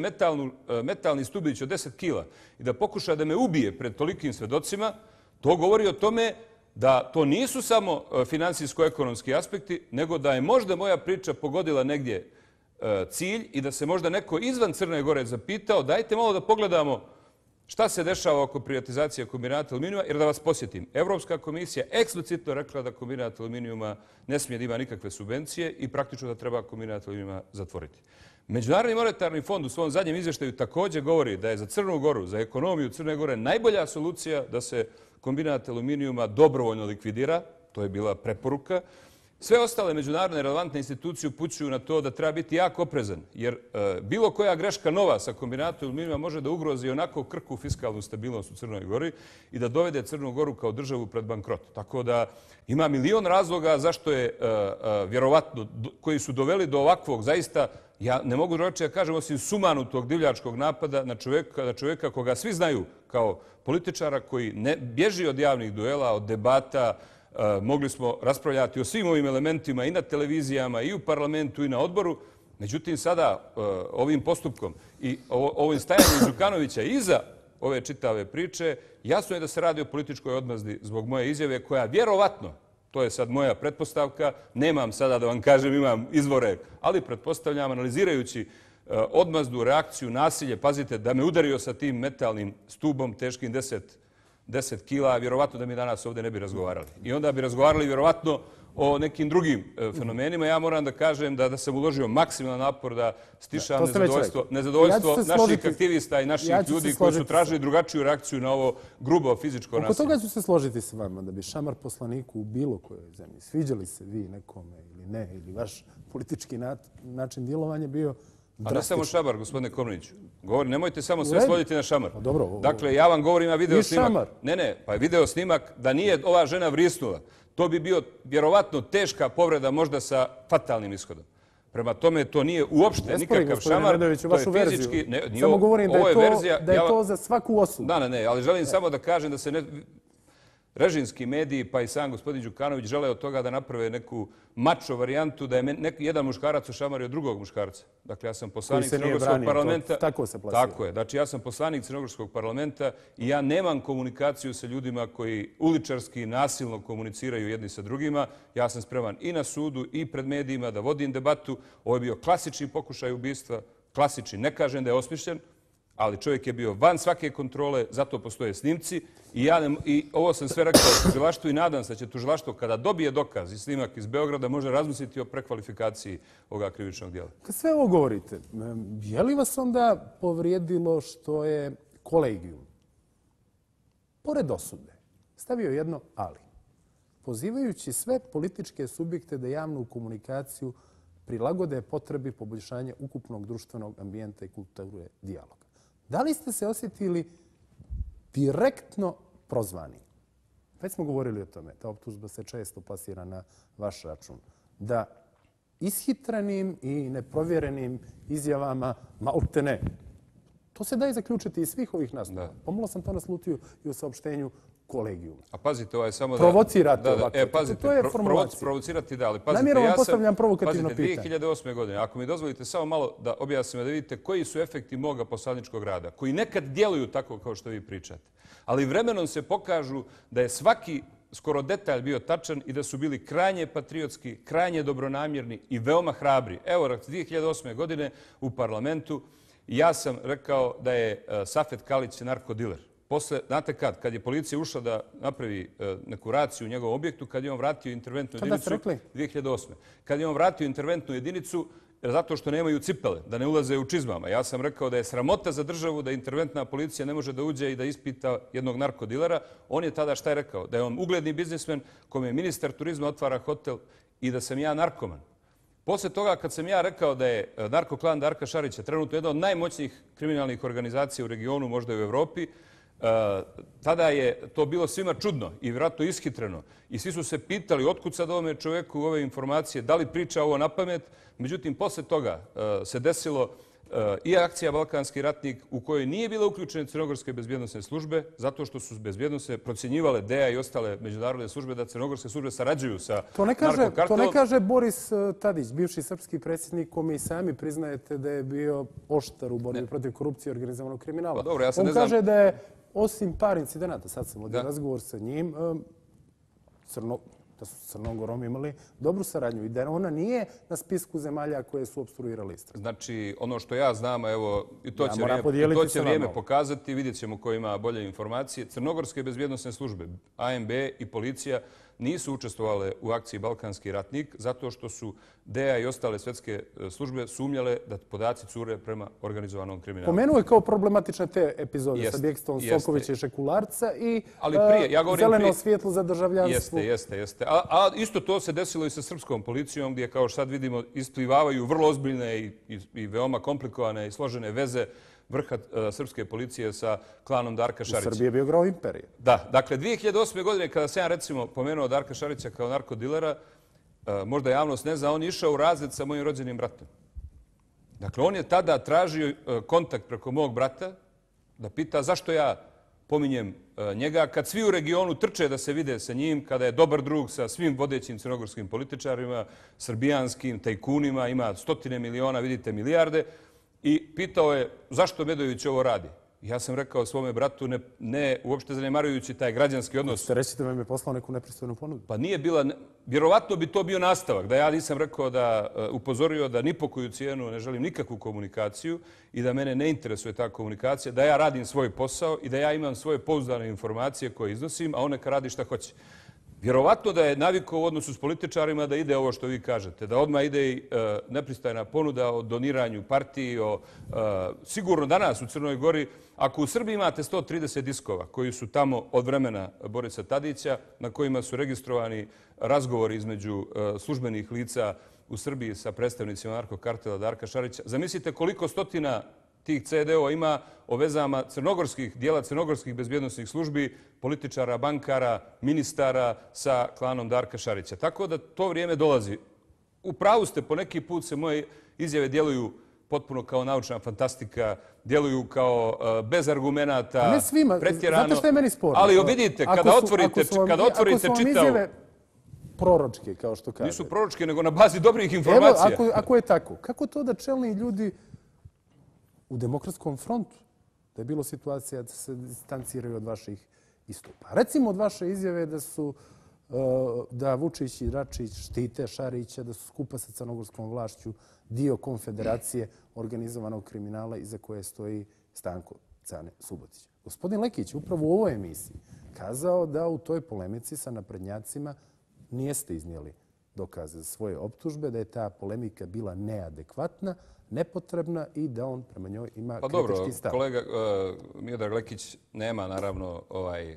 metalni stubić od 10 kila i da pokuša da me ubije pred tolikim svedocima, to govori o tome da to nisu samo finansijsko-ekonomski aspekti, nego da je možda moja priča pogodila negdje cilj i da se možda neko izvan Crne Gore zapitao, dajte malo da pogledamo šta se dešava oko privatizacije kombinata aluminijuma, jer da vas posjetim, Evropska komisija eksplicitno rekla da kombinat aluminijuma ne smije da ima nikakve subvencije i praktično da treba kombinat aluminijuma zatvoriti. Međunarodni monetarni fond u svom zadnjem izvještaju također govori da je za Crnu Goru, za ekonomiju Crne Gore najbolja solucija da se kombinat aluminijuma dobrovoljno likvidira, to je bila preporuka. Sve ostale međunarodne relevantne institucije upućuju na to da treba biti jako oprezan, jer bilo koja greška nova sa kombinatom aluminijuma može da ugrozi onako krhku fiskalnu stabilnost u Crnoj Gori i da dovede Crnu Goru kao državu pred bankrot. Tako da ima milion razloga zašto je vjerovatno, koji su doveli do ovakvog, zaista, ja ne mogu drugačije da kažem, osim sumanutog divljačkog napada na čovjeka koga svi znaju kao političara koji ne bježi od javnih duela, od debata. Mogli smo raspravljati o svim ovim elementima i na televizijama, i u parlamentu, i na odboru. Međutim, sada ovim postupkom i ovim stajanjem Đukanovića iza ove čitave priče, jasno je da se radi o političkoj odmazdi zbog moje izjave koja vjerovatno, to je sad moja pretpostavka, nemam sada da vam kažem, imam izvore, ali pretpostavljam, analizirajući odmazdu, reakciju, nasilje, pazite, da me udario sa tim metalnim stubom teškim 10 kila, vjerovatno da mi danas ovdje ne bi razgovarali. I onda bi razgovarali vjerovatno o nekim drugim fenomenima. Ja moram da kažem da sam uložio maksimalan napor da stišam nezadovoljstvo naših aktivista i naših ljudi koji su tražili drugačiju reakciju na ovo grubo fizičko nasilje. Oko toga ću se složiti s vama da bi šamar poslaniku u bilo kojoj zemlji, sviđali se vi nekome ili ne, ili vaš politički način djelovanja bio a ne samo šamar, gospodine Komneniću. Nemojte samo sve svoditi na šamar. Dobro. Dakle, ja vam govorim, video snimak. Ne, pa je video snimak da nije ova žena vrisnula. To bi bio vjerovatno teška povreda, možda sa fatalnim ishodom. Prema tome, to nije uopšte nikakav šamar. To je fizički... Samo govorim da je to za svaku osudu. Ne, ali želim samo da kažem da se režimski mediji, pa i sam gospodin Đukanović žele od toga da naprave neku mačo varijantu, da je jedan muškarac ošamario drugog muškarca. Dakle, ja sam poslanik Crnogorskog parlamenta. Tako se plasira. Tako je. Znači, ja sam poslanik Crnogorskog parlamenta i ja nemam komunikaciju sa ljudima koji uličarski nasilno komuniciraju jedni sa drugima. Ja sam spreman i na sudu i pred medijima da vodim debatu. Ovo je bio klasični pokušaj ubistva. Klasični. Ne kažem da je osmišljen, ali čovjek je bio van svake kontrole, zato postoje snimci. I ovo sam sve rekao tužilaštvu i nadam se da će tužilaštvo kada dobije dokaz i snimak iz Beograda može razmisliti o prekvalifikaciji ovoga krivičnog djela. Kad sve ovo govorite, je li vas onda povrijedilo što je kolegijum, pored osude, stavio jedno ali, pozivajući sve političke subjekte da javnu komunikaciju prilagode potrebi poboljšanja ukupnog društvenog ambijenta i kulture dijaloga? Da li ste se osjetili direktno prozvani? Već smo govorili o tome. Ta optužba se često plasira na vaš račun. Da ishitrenim i neprovjerenim izjavama, malte ne, to se daje zaključiti iz svih ovih nastupa. Pomalo sam to naslutio i u saopštenju kolegijuma. A pazite, ovo je samo da... Provocirate ovako. Pazite, to je formulacija. Provocirati da, ali pazite, namjerno vam postavljam provokativno pitanje. Pazite, 2008. godine, ako mi dozvolite samo malo da objasnim, da vidite koji su efekti moga poslaničkog rada, koji nekad djeluju tako kao što vi pričate, ali vremenom se pokažu da je svaki skoro detalj bio tačan i da su bili krajnje patriotski, krajnje dobronamjerni i veoma hrabri. Evo, 2008. godine u parlamentu ja sam rekao da je Safet Kalić narkodiler. Posle, znate kad je policija ušla da napravi neku raciju u njegovom objektu, kad je on vratio interventnu jedinicu... Kada ste rekli? 2008. Kad je on vratio interventnu jedinicu zato što nemaju cipele, da ne ulaze u čizmama. Ja sam rekao da je sramota za državu da interventna policija ne može da uđe i da ispita jednog narkodilera. On je tada šta je rekao? Da je on ugledni biznismen kome je ministar turizma otvara hotel i da sam ja narkoman. Posle toga, kad sam ja rekao da je narkoklan Darka Šarića trenutno jedna od najmoćnijih kriminalnih organizacija u regionu, možda i u Evropi, tada je to bilo svima čudno i vjerojatno ishitreno. I svi su se pitali otkud sad ovome čovjeku ove informacije, da li priča ovo na pamet. Međutim, posle toga se desilo i akcija Balkanski ratnik u kojoj nije bila uključene crnogorske bezbjednosne službe, zato što su bezbjednosne procjenjivale DEA i ostale međunarodne službe da crnogorske službe sarađuju sa narkokartelom. To ne kaže Boris Tadić, bivši srpski predsjednik, kome i sami priznajete da je bio oštar u borbi protiv korupcije i organizovanog kriminala. Pa dobro, ja sad on ne znam... kaže da je, osim par incidenata, sad sam vodio razgovor sa njim, da su s Crnogorom imali dobru saradnju i da ona nije na spisku zemalja koje su opstruirali istragu. Znači, ono što ja znam, evo, i to će vrijeme pokazati, vidjet ćemo ko ima bolje informacije. Crnogorske bezbjednosne službe, ANB i policija, nisu učestvovale u akciji Balkanski ratnik zato što su DEA i ostale svetske službe sumnjale da podaci cure prema organizovanom kriminalu. Pomenuo je kao problematične te epizode sa Bjekstvom Sokovića i Šekularca i zeleno svjetlo za državljanstvo. Jeste. A isto to se desilo i sa srpskom policijom gdje, kao što sad vidimo, isplivavaju vrlo ozbiljne i veoma komplikovane i složene veze vrha srpske policije sa klanom Darka Šarića. U Srbiji je bio grao imperije. Da, dakle, 2008. godine kada sam ja recimo pomenuo Darka Šarića kao narkodilera, možda javnost ne zna, on je išao u razred sa mojim rođenim bratom. Dakle, on je tada tražio kontakt preko mog brata da pita zašto ja pominjem njega kad svi u regionu trče da se vide sa njim, kada je dobar drug sa svim vodećim crnogorskim političarima, srbijanskim, tajkunima, ima stotine miliona, vidite milijarde. I pitao je zašto Medojević ovo radi. Ja sam rekao svome bratu, ne uopšte zanemarujući taj građanski odnos. Ste reći da vam je poslao neku nepristojnu ponudu? Pa nije bila, vjerovatno bi to bio nastavak, da ja nisam rekao da upozorio da ni po koju cijenu ne želim nikakvu komunikaciju i da mene ne interesuje ta komunikacija, da ja radim svoj posao i da ja imam svoje pouzdane informacije koje iznosim, a on neka radi šta hoće. Vjerovatno da je navikao u odnosu s političarima da ide ovo što vi kažete, da odmah ide i nepristajna ponuda o doniranju partiji, sigurno danas u Crnoj Gori, ako u Srbiji imate 130 diskova koji su tamo od vremena Borisa Tadića, na kojima su registrovani razgovori između službenih lica u Srbiji sa predstavnicima narkokartela Darka Šarića, zamislite koliko stotina tih CD-ova ima o vezama dijela crnogorskih bezbjednosnih službi, političara, bankara, ministara sa klanom Darka Šarića. Tako da to vrijeme dolazi. U pravu ste, po neki put se moje izjave djeluju potpuno kao naučna fantastika, djeluju kao bez argumenata, ne svima. pretjerano. Znate što je meni sporno? Ali vidite, kada otvorite čitav... proročke, kao što kažete. Nisu proročke, nego na bazi dobrih informacija. Evo, ako je tako, kako to da čelni ljudi u Demokratskom frontu, da je bilo situacija da se distanciraju od vaših istupa? Recimo od vaše izjave da Vučić i Račić štite Šarića, da su skupa sa crnogorskom vlašću dio konfederacije organizovanog kriminala iza koje stoji Stanko Cane Subotić. Gospodin Lekić upravo u ovoj emisiji kazao da u toj polemici sa naprednjacima nijeste iznijeli dokaze za svoje optužbe, da je ta polemika bila neadekvatna, nepotrebna i da on prema njoj ima kritički stav. Pa dobro, kolega Miodrag Lekić nema naravno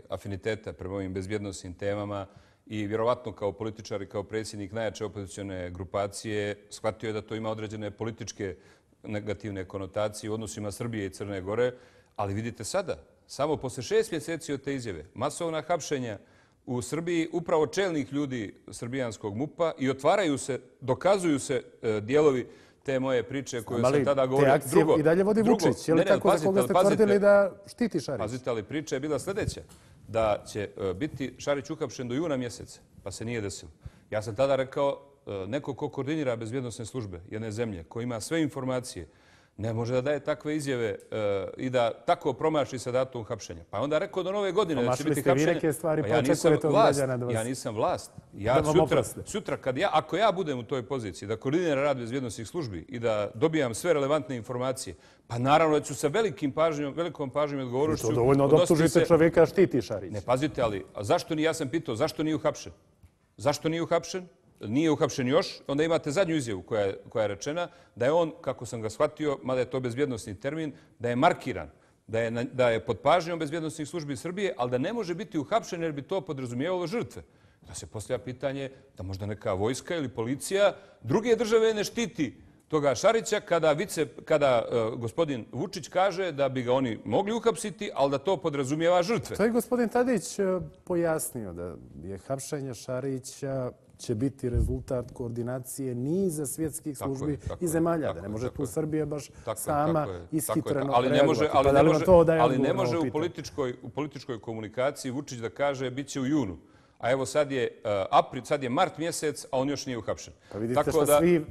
afiniteta prema ovim bezbjednosnim temama i vjerovatno kao političar i kao predsjednik najjače opozicione grupacije shvatio je da to ima određene političke negativne konotacije u odnosima Srbije i Crne Gore, ali vidite sada, samo posle 6 mjeseci od te izjave, masovna hapšenja u Srbiji, upravo čelnih ljudi srbijanskog MUP-a i otvaraju se, dokazuju se dijelovi te moje priče koju sam tada govorio. Te akcije i dalje vodi Vučić, je li tako za koga ste tvrdili da štiti Šarić? Pazite, ali priča je bila sljedeća, da će biti Šarić uhapšen do juna mjeseca, pa se nije desilo. Ja sam tada rekao, neko ko koordinira bezbjednosne službe jedne zemlje, ko ima sve informacije, ne može da daje takve izjave i da tako promaši sa datum hapšenja. Pa onda rekao do nove godine da će biti hapšenje. Promašili ste vi neke stvari, pa očekujete od građana da vas... Ja nisam vlast. Sutra, ako ja budem u toj poziciji da koordiniram rad bezbjednosnih službi i da dobijam sve relevantne informacije, pa naravno da ću sa velikom pažnjom i odgovornošću... To dovoljno da optužite čovjeka štiti Šarić. Ne, pazite, ali ja sam pitao zašto nije uhapšen? Zašto nije uhapšen? Nije uhapšen još, onda imate zadnju izjavu koja je rečena da je on, kako sam ga shvatio, mada je to bezbjednosni termin, da je markiran, da je pod pažnjom bezbjednosnih službi Srbije, ali da ne može biti uhapšen jer bi to podrazumijevalo žrtve. Da se postavlja pitanje da možda neka vojska ili policija druge države ne štiti toga Šarića kada gospodin Vučić kaže da bi ga oni mogli uhapsiti, ali da to podrazumijeva žrtve. To je gospodin Tadić pojasnio da je hapšenje Šarića će biti rezultat koordinacije niza svjetskih službi i zemalja. Da ne može tu Srbija baš sama ishitreno reagovati. Ali ne može u političkoj komunikaciji Vučić da kaže bit će u junu. A evo sad je mart mjesec, a on još nije uhapšen. Pa vidite što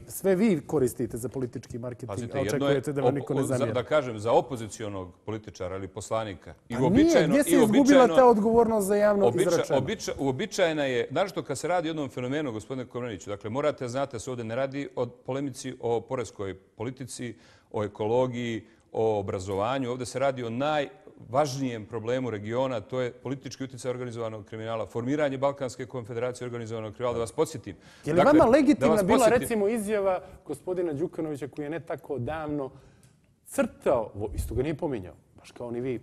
sve vi koristite za politički marketing, a očekujete da vam niko ne zamjera. Da kažem, za opozicionog političara ili poslanika. A nije, gdje se izgubila ta odgovornost za javno izračeno? Uobičajena je, naročito kad se radi o jednom fenomenu, gospodine Komneniću, dakle morate znate se ovdje ne radi o polemici o poreskoj politici, o ekologiji, o obrazovanju. Ovdje se radi o najvažnijem problemu regiona, to je politički utjecaj organizovanog kriminala, formiranje Balkanske konfederacije organizovanog kriminala. Da vas podsjetim. Je li vama legitimna bila recimo izjava gospodina Đukanovića koji je ne tako davno crtao, isto ga nije pominjao, baš kao ni vi,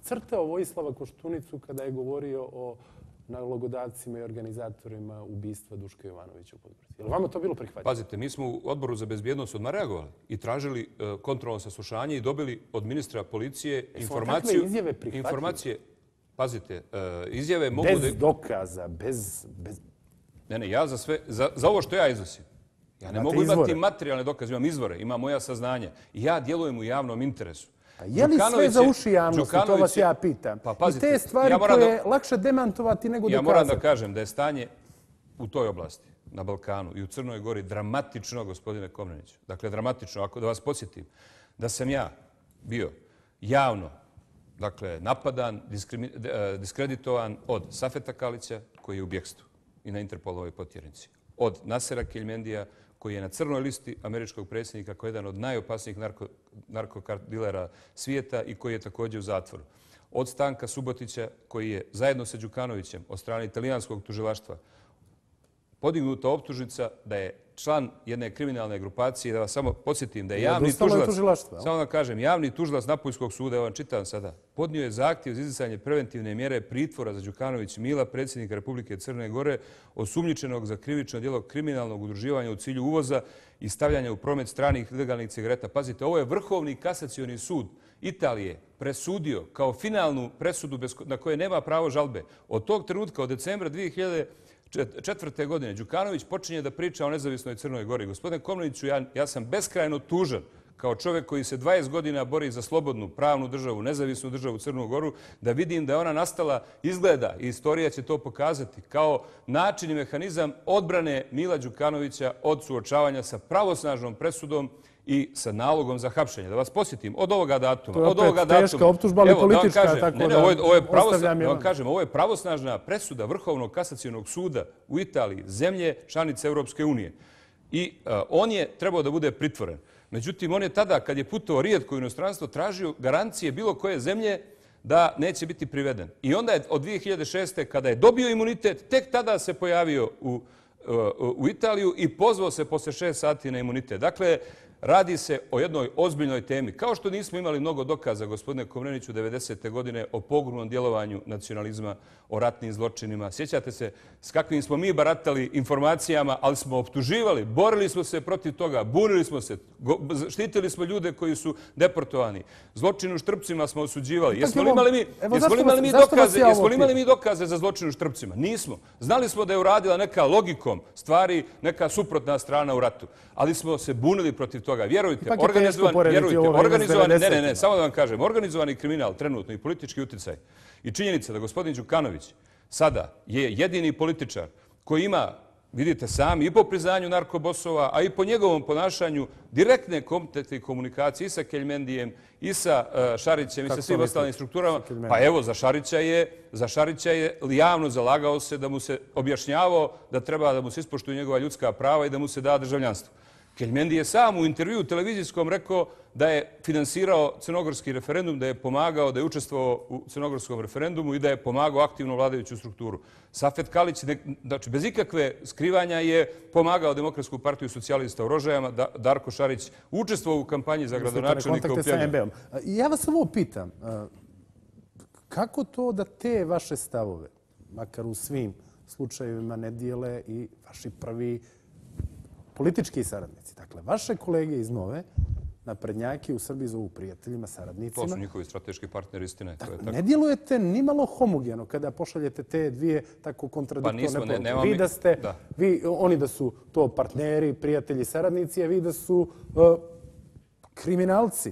crtao Vojislava Koštunicu kada je govorio o nalogodavcima i organizatorima ubistva Duška Jovanovića u Podgorici. Je li vama to bilo prihvaćeno? Pazite, mi smo u Odboru za bezbjednost odmah reagovali i tražili kontrolno saslušanje i dobili od ministra policije informacije. Pazite, izjave mogu... Bez dokaza, bez... Ne, ja za ovo što ja iznosim. Ja ne mogu imati materijalne dokaze, imam izvore, imam moja saznanja. I ja djelujem u javnom interesu. Je li sve za uši javnosti, to vas ja pitam. I te stvari koje je lakše demantovati nego dokazati. Ja moram da kažem da je stanje u toj oblasti, na Balkanu i u Crnoj Gori, dramatično, gospodine Komneniću. Dakle, dramatično. Ako da vas podsjetim, da sam ja bio javno napadan, diskreditovan od Safeta Kalića, koji je u bjekstvu i na Interpolovoj potjernici, od Nasera Keljmendija, koji je na crnoj listi američkog predsjednika kao jedan od najopasnijih narkodilera svijeta i koji je također u zatvoru. Od Stanka Subotića, koji je zajedno sa Đukanovićem od strane italijanskog tužilaštva podignuta optužnica da je član jedne kriminalne grupacije. Da vas samo podsjetim da je javni tužilac, samo da kažem, javni tužilac Napoljskog suda, evo vam čitam sada, podnio je zahtjev za izricanje preventivne mjere pritvora za Đukanović Mila, predsjednika Republike Crne Gore, osumnjičenog za krivično djelo kriminalnog udruživanja u cilju uvoza i stavljanja u promet stranih ilegalnih cigareta. Pazite, ovo je Vrhovni kasacioni sud Italije presudio kao finalnu presudu na koje nema pravo žalbe. Od tog trenutka, od decembra 2004. godine, Đukanović počinje da priča o nezavisnoj Crnoj Gori. Gospodine Komneniću, ja sam beskrajno tužan kao čovjek koji se 20 godina bori za slobodnu, pravnu državu, nezavisnu državu Crnu Goru, da vidim da je ona nastala, izgleda, i istorija će to pokazati, kao način i mehanizam odbrane Mila Đukanovića od suočavanja sa pravosnažnom presudom i sa nalogom za hapšenje. Da vas posjetim, od ovoga datuma... To je opet teška optužba, ali politička, tako da ostavljam je vam. Ovo je pravosnažna presuda Vrhovnog kasacionog suda u Italiji, zemlje članice Europske unije. I on je trebao da bude pritvoren. Međutim, on je tada, kad je putovao rijetko u inostranstvo, tražio garancije bilo koje zemlje da neće biti priveden. I onda je od 2006. kada je dobio imunitet, tek tada se pojavio u Italiju i pozvao se posle 6 sati na imunitet. Dakle, radi se o jednoj ozbiljnoj temi. Kao što nismo imali mnogo dokaza, gospodine Komneniću, 90. godine o pogubnom djelovanju nacionalizma, o ratnim zločinima. Sjećate se s kakvim smo mi baratali informacijama, ali smo optuživali, borili smo se protiv toga, bunili smo se, štitili smo ljude koji su deportovani. Zločin u Štrpcima smo osuđivali. Jesmo li imali mi dokaze za zločin u Štrpcima? Nismo. Znali smo da je uradila neka logikom stvari, neka suprotna strana u ratu. Ali smo se bunili protiv toga. Vjerujte, samo da vam kažem, organizovani kriminal trenutno i politički uticaj i činjenica da gospodin Đukanović sada je jedini političar koji ima, vidite sami, i po priznanju narkobosova, a i po njegovom ponašanju direktne kompetentne komunikacije i sa Keljmendijem, i sa Šarićem, i sa svim ostalim strukturama. Pa evo, za Šarića je javno zalagao se da mu se objašnjavao da treba da mu se ispoštuju njegova ljudska prava i da mu se da državljanstvo. Keljmendi je sam u intervju televizijskom rekao da je finansirao crnogorski referendum, da je pomagao, da je učestvovao u crnogorskom referendumu i da je pomagao aktivno vladajuću strukturu. Safet Kalić, znači bez ikakve skrivanja, je pomagao Demokratsku partiju socijalista u Rožajama. Darko Šarić učestvovao u kampanji za gradonačelnika u Pljevlju. Ja vas ovo pitam, kako to da te vaše stavove, makar u svim slučajevima, ne dijele i vaši prvi politički saradnici? Dakle, vaše kolege iz Nove, naprednjaki u Srbiji zovu prijateljima, saradnicima. To su njihovi strateški partneri, istine. Ne djelujete ni malo homogeno kada pošaljete te dvije tako kontradiktorne poruke. Oni da su to partneri, prijatelji, saradnici, a vi da su kriminalci.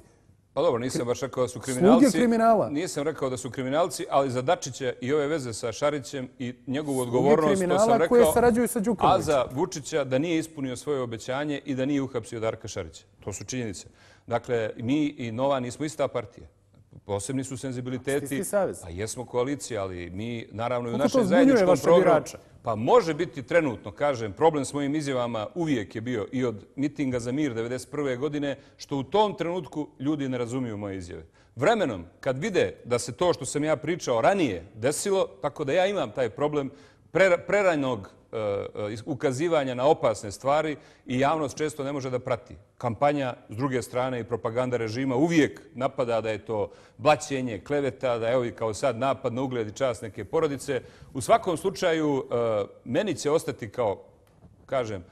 Pa dobro, nisam baš rekao da su kriminalci. Sluge kriminala. Nisam rekao da su kriminalci, ali za Dačića i ove veze sa Šarićem i njegovu odgovornost, to sam rekao, koje sarađuju sa Đukanovićem. A za Vučića da nije ispunio svoje obećanje i da nije uhapsio Darka Šarića. To su činjenice. Dakle, mi i Nova nismo ista partija. Posebni su senzibiliteti. Isti savez. Pa jesmo koalicija, ali mi naravno i u našem zajedničkom programu. Pa može biti trenutno, kažem, problem s mojim izjavama uvijek je bio i od mitinga za mir 1991. godine, što u tom trenutku ljudi ne razumiju moje izjave. Vremenom, kad vide da se to što sam ja pričao ranije desilo, tako da ja imam taj problem prerajnog ukazivanja na opasne stvari i javnost često ne može da prati. Kampanja, s druge strane, i propaganda režima uvijek napada da je to blaćenje, kleveta, da je evo i kao sad napad na ugled i čast neke porodice. U svakom slučaju, meni će ostati kao, kažem,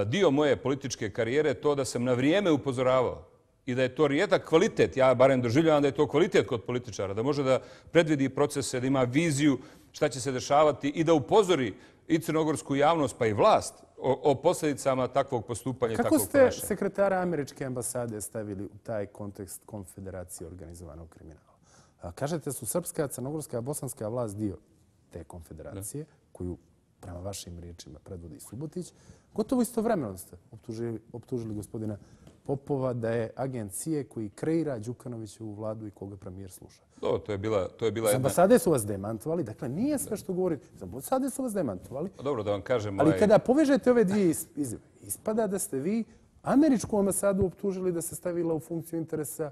dio moje političke karijere to da sam na vrijeme upozoravao i da je to rijedak kvalitet, ja barem doživljavam da je to kvalitet kod političara, da može da predvidi procese, da ima viziju šta će se dešavati i da upozori i crnogorsku javnost, pa i vlast, o posljedicama takvog postupanja i takvog ponašanja. Kako ste sekretara američke ambasade stavili u taj kontekst konfederacije organizovanog kriminala? Kažete su srpska, crnogorska, bosanska vlast dio te konfederacije, koju prema vašim riječima predvodi Subotić. Gotovo istovremeno ste optužili gospodina Popova da je agencije koji kreira Đukanovićevu vladu i koga premijer sluša. To je bila jedna... Ambasade su vas demantovali, dakle nije sve što govorite. Ambasade su vas demantovali. Dobro, da vam kažem... Ali kada povežete ove dvije izjave, ispada da ste vi američku ambasadu optužili da se stavila u funkciju interesa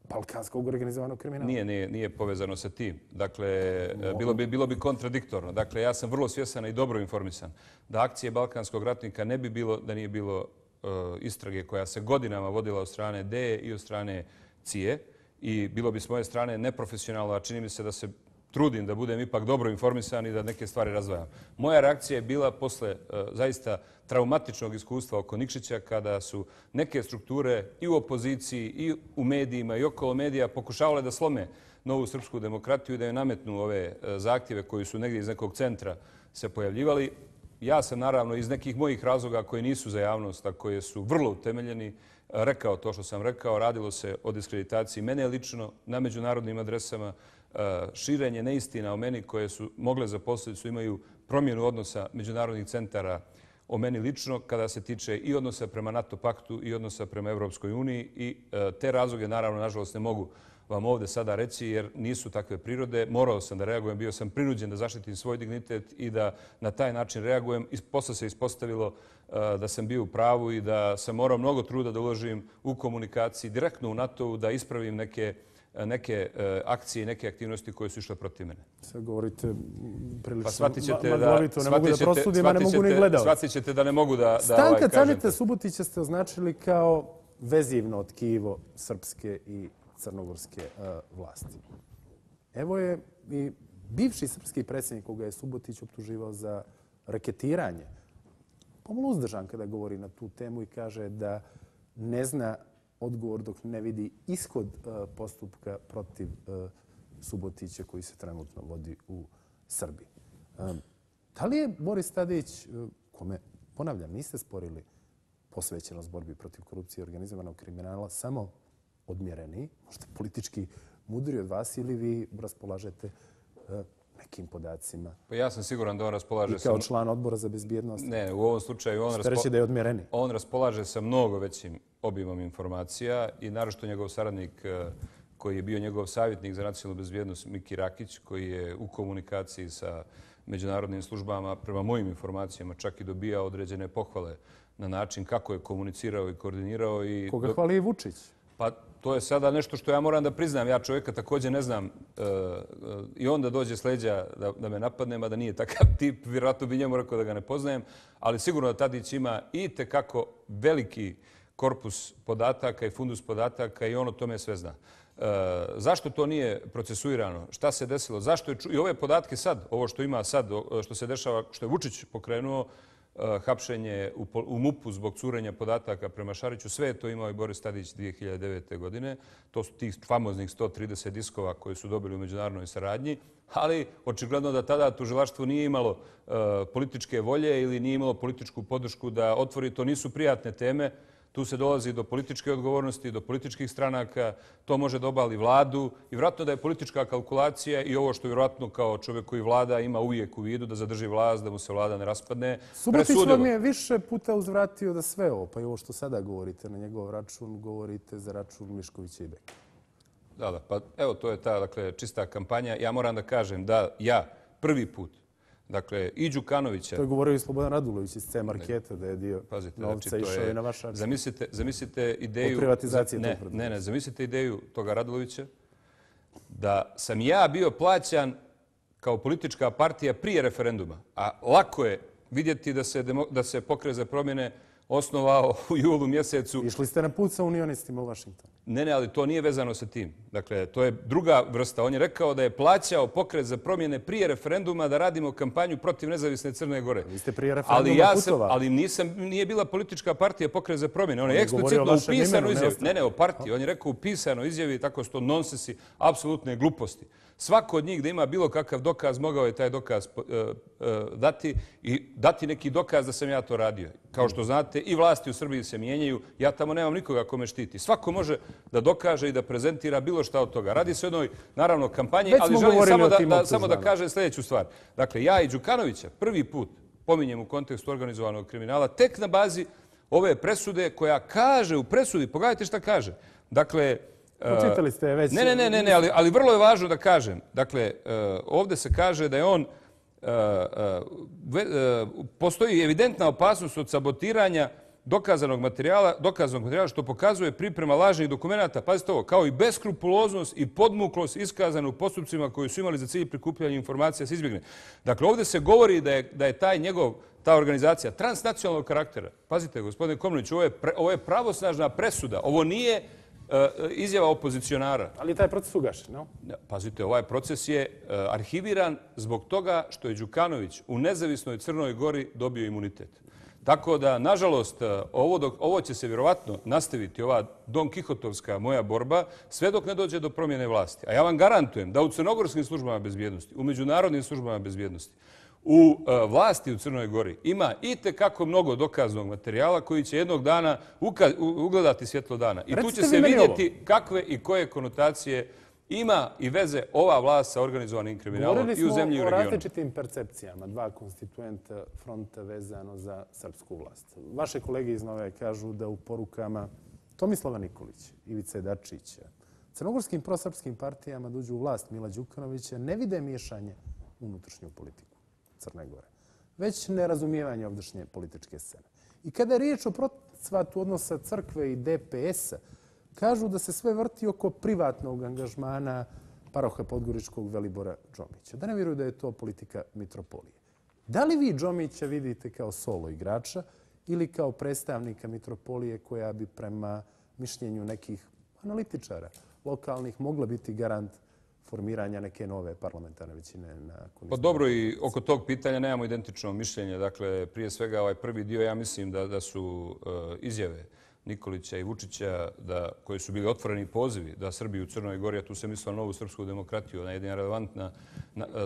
balkanskog organizovanog kriminala. Nije povezano sa tim. Dakle, bilo bi kontradiktorno. Dakle, ja sam vrlo svjesan i dobro informisan da akcije balkanskog ratnika ne bi bilo da nije bilo istrage koja se godinama vodila od strane DE i od strane CIE i bilo bi s moje strane neprofesionalno, a čini mi se da se trudim da budem ipak dobro informisan i da neke stvari razdvajam. Moja reakcija je bila posle zaista traumatičnog iskustva oko Nikšića kada su neke strukture i u opoziciji i u medijima i okolo medija pokušavale da slome novu srpsku demokratiju i da joj nametnu ove zahtjeve koji su negdje iz nekog centra se pojavljivali. ja sam naravno iz nekih mojih razloga koji nisu za javnost, a koje su vrlo utemeljeni, rekao to što sam rekao. Radilo se o diskreditaciji mene lično na međunarodnim adresama, širenje neistina o meni koje su mogle za posljedicu imaju promjenu odnosa međunarodnih centara o meni lično kada se tiče i odnosa prema NATO paktu i odnosa prema Evropskoj uniji. I te razloge, naravno, nažalost, ne mogu vam ovdje sada reći jer nisu takve prirode. Morao sam da reagujem, bio sam prinuđen da zaštitim svoj dignitet i da na taj način reagujem. Posle se ispostavilo da sam bio u pravu i da sam morao mnogo truda da uložim u komunikaciji direktno u NATO-u, da ispravim neke akcije i neke aktivnosti koje su išle protiv mene. Sad govorite prilično maglovito, ne mogu da prosudim, a ne mogu ni gledao. Shvatit ćete da ne mogu da Stanka Caneta Subotića ste označili kao vezivno tkivo srpske i crnogorske vlasti. Evo je i bivši srpski predsjednik koga je Subotić optuživao za raketiranje. Pomalo uzdržan kada govori na tu temu i kaže da ne zna odgovor dok ne vidi ishod postupka protiv Subotića koji se trenutno vodi u Srbiji. Da li je Boris Tadić, kome, ponavljam, niste sporili posvećenost borbi protiv korupcije i organizovanog kriminala, samo odmjereniji, možda politički mudri od vas, ili vi raspolažete nekim podacima? Pa ja sam siguran da on raspolaže... I kao član odbora za bezbjednost? Ne, u ovom slučaju on raspolaže sa mnogo većim obimom informacija i naročito njegov saradnik koji je bio njegov savjetnik za nacionalnu bezbjednost, Miki Rakić, koji je u komunikaciji sa međunarodnim službama, prema mojim informacijama, čak i dobija određene pohvale na način kako je komunicirao i koordinirao. Koga hvali i Vučić? Pa to je sada nešto što ja moram da priznam. Ja čovjeka također ne znam i onda dođe s leđa da me napadne, mada nije takav tip. Vjerojatno bi njemu rekao da ga ne poznajem, ali sigurno da Tadić ima i tekako veliki korpus podataka i fundus podataka i on o tome sve zna. Zašto to nije procesuirano? Šta se desilo? Zašto je i ove podatke sad, ovo što ima sad, što se dešava, što je Vučić pokrenuo, hapšenje u MUP-u zbog curenja podataka prema Šariću, sve je to imao i Boris Tadić 2009. godine. To su tih famoznih 130 diskova koje su dobili u međunarodnoj saradnji, ali očigledno da tada tužilaštvo nije imalo političke volje ili nije imalo političku podršku da otvori. To nisu prijatne teme. Tu se dolazi do političke odgovornosti, do političkih stranaka. To može da obali vladu i vjerojatno da je politička kalkulacija i ovo što vjerojatno kao čovjek koji vlada ima uvijek u vidu da zadrži vlast, da mu se vlada ne raspadne. Subotić vam je više puta uzvratio da sve ovo, pa i ovo što sada govorite na njegov račun, govorite za račun Miškovića i Beka. Da, pa evo to je ta čista kampanja. Ja moram da kažem da ja prvi put, dakle, i Đukanovića... To je govorio i Slobodan Radulović iz C Marketa, da je dio novca išao i na vaš račun. Zamislite ideju... Od privatizacije tog preduzeća. Ne, zamislite ideju toga Radulovića da sam ja bio plaćan kao politička partija prije referenduma, a lako je vidjeti da se Pokret za promjene osnovao u julu mjesecu. Išli ste na put sa unionistima u Vašingtonu. Ne, ali to nije vezano sa tim. Dakle, to je druga vrsta. On je rekao da je plaćao Pokret za promjene prije referenduma da radimo kampanju protiv nezavisne Crne Gore. Vi ste prije referenduma putovali. Ali nije bila politička partija Pokret za promjene. On je eksplicitno u pisanoj izjavi. Ne, o partiji. On je rekao u pisanoj izjavi, tako su to nonsensi, apsolutne gluposti. Svako od njih da ima bilo kakav dokaz, mogao je taj dokaz dati i dati neki dokaz da sam ja to radio. Kao što znate, i vlasti u Srbiji se mijenjaju. Ja tamo nemam nikoga ko me štiti. Svako može da dokaže i da prezentira bilo šta od toga. Radi se o jednoj, naravno, kampanji, ali želim samo da kažem sljedeću stvar. Dakle, ja i Đukanovića prvi put pominjem u kontekstu organizovanog kriminala tek na bazi ove presude koja kaže u presudi, pogledajte šta kaže. Dakle, počitali ste već... Ne, ali vrlo je važno da kažem. Dakle, ovdje se kaže da je on... Postoji evidentna opasnost od sabotiranja dokaznog materijala što pokazuje priprema lažnih dokumenta, pazite ovo, kao i beskrupuloznost i podmuklost iskazana u postupcima koji su imali za cilj prikupljanja informacija se izbjegne. Dakle, ovdje se govori da je ta organizacija transnacionalnog karaktera. Pazite, gospodine Komnenić, ovo je pravosnažna presuda. Ovo nije izjava opozicionara. Ali taj proces ugašen, no? Pazite, ovaj proces je arhiviran zbog toga što je Đukanović u nezavisnoj Crnoj Gori dobio imunitet. Tako da, nažalost, ovo će se vjerovatno nastaviti, ova Don Kihotovska moja borba, sve dok ne dođe do promjene vlasti. A ja vam garantujem da u crnogorskim službama bezbjednosti, u međunarodnim službama bezbjednosti, u vlasti u Crnoj Gori ima itekako mnogo dokaznog materijala koji će jednog dana ugledati svjetlo dana. I tu će se vidjeti kakve i koje konotacije ima i veze ova vlast sa organizovanim kriminalom i u zemlji i u regionu. Govorili smo o različitim percepcijama, dva konstituenta fronta vezano za srpsku vlast. Vaše kolege iz Nove kažu da u porukama Tomislava Nikolića, Ivice Dačića, crnogorskim prosrpskim partijama dođu u vlast Mila Đukanovića, ne vide miješanje u unutrašnju politiku Crne Gore, već nerazumijevanje ovdašnje političke scene. I kada je riječ o procvatu odnosa crkve i DPS-a, kažu da se sve vrti oko privatnog angažmana paroha podgoričkog Velibora Džomića. Da ne vjeruju da je to politika mitropolije. Da li vi Džomića vidite kao solo igrača ili kao predstavnika mitropolije koja bi prema mišljenju nekih analitičara lokalnih mogla biti garant formiranja neke nove parlamentarne većine? Pa dobro, i oko tog pitanja nemamo identično mišljenje. Dakle, prije svega ovaj prvi dio, ja mislim da su izjave Nikolića i Vučića, koji su bili otvoreni pozivi da Srbiju u Crnoj Gori, a tu se mislila novu srpsku demokratiju, ona je jedna relevantna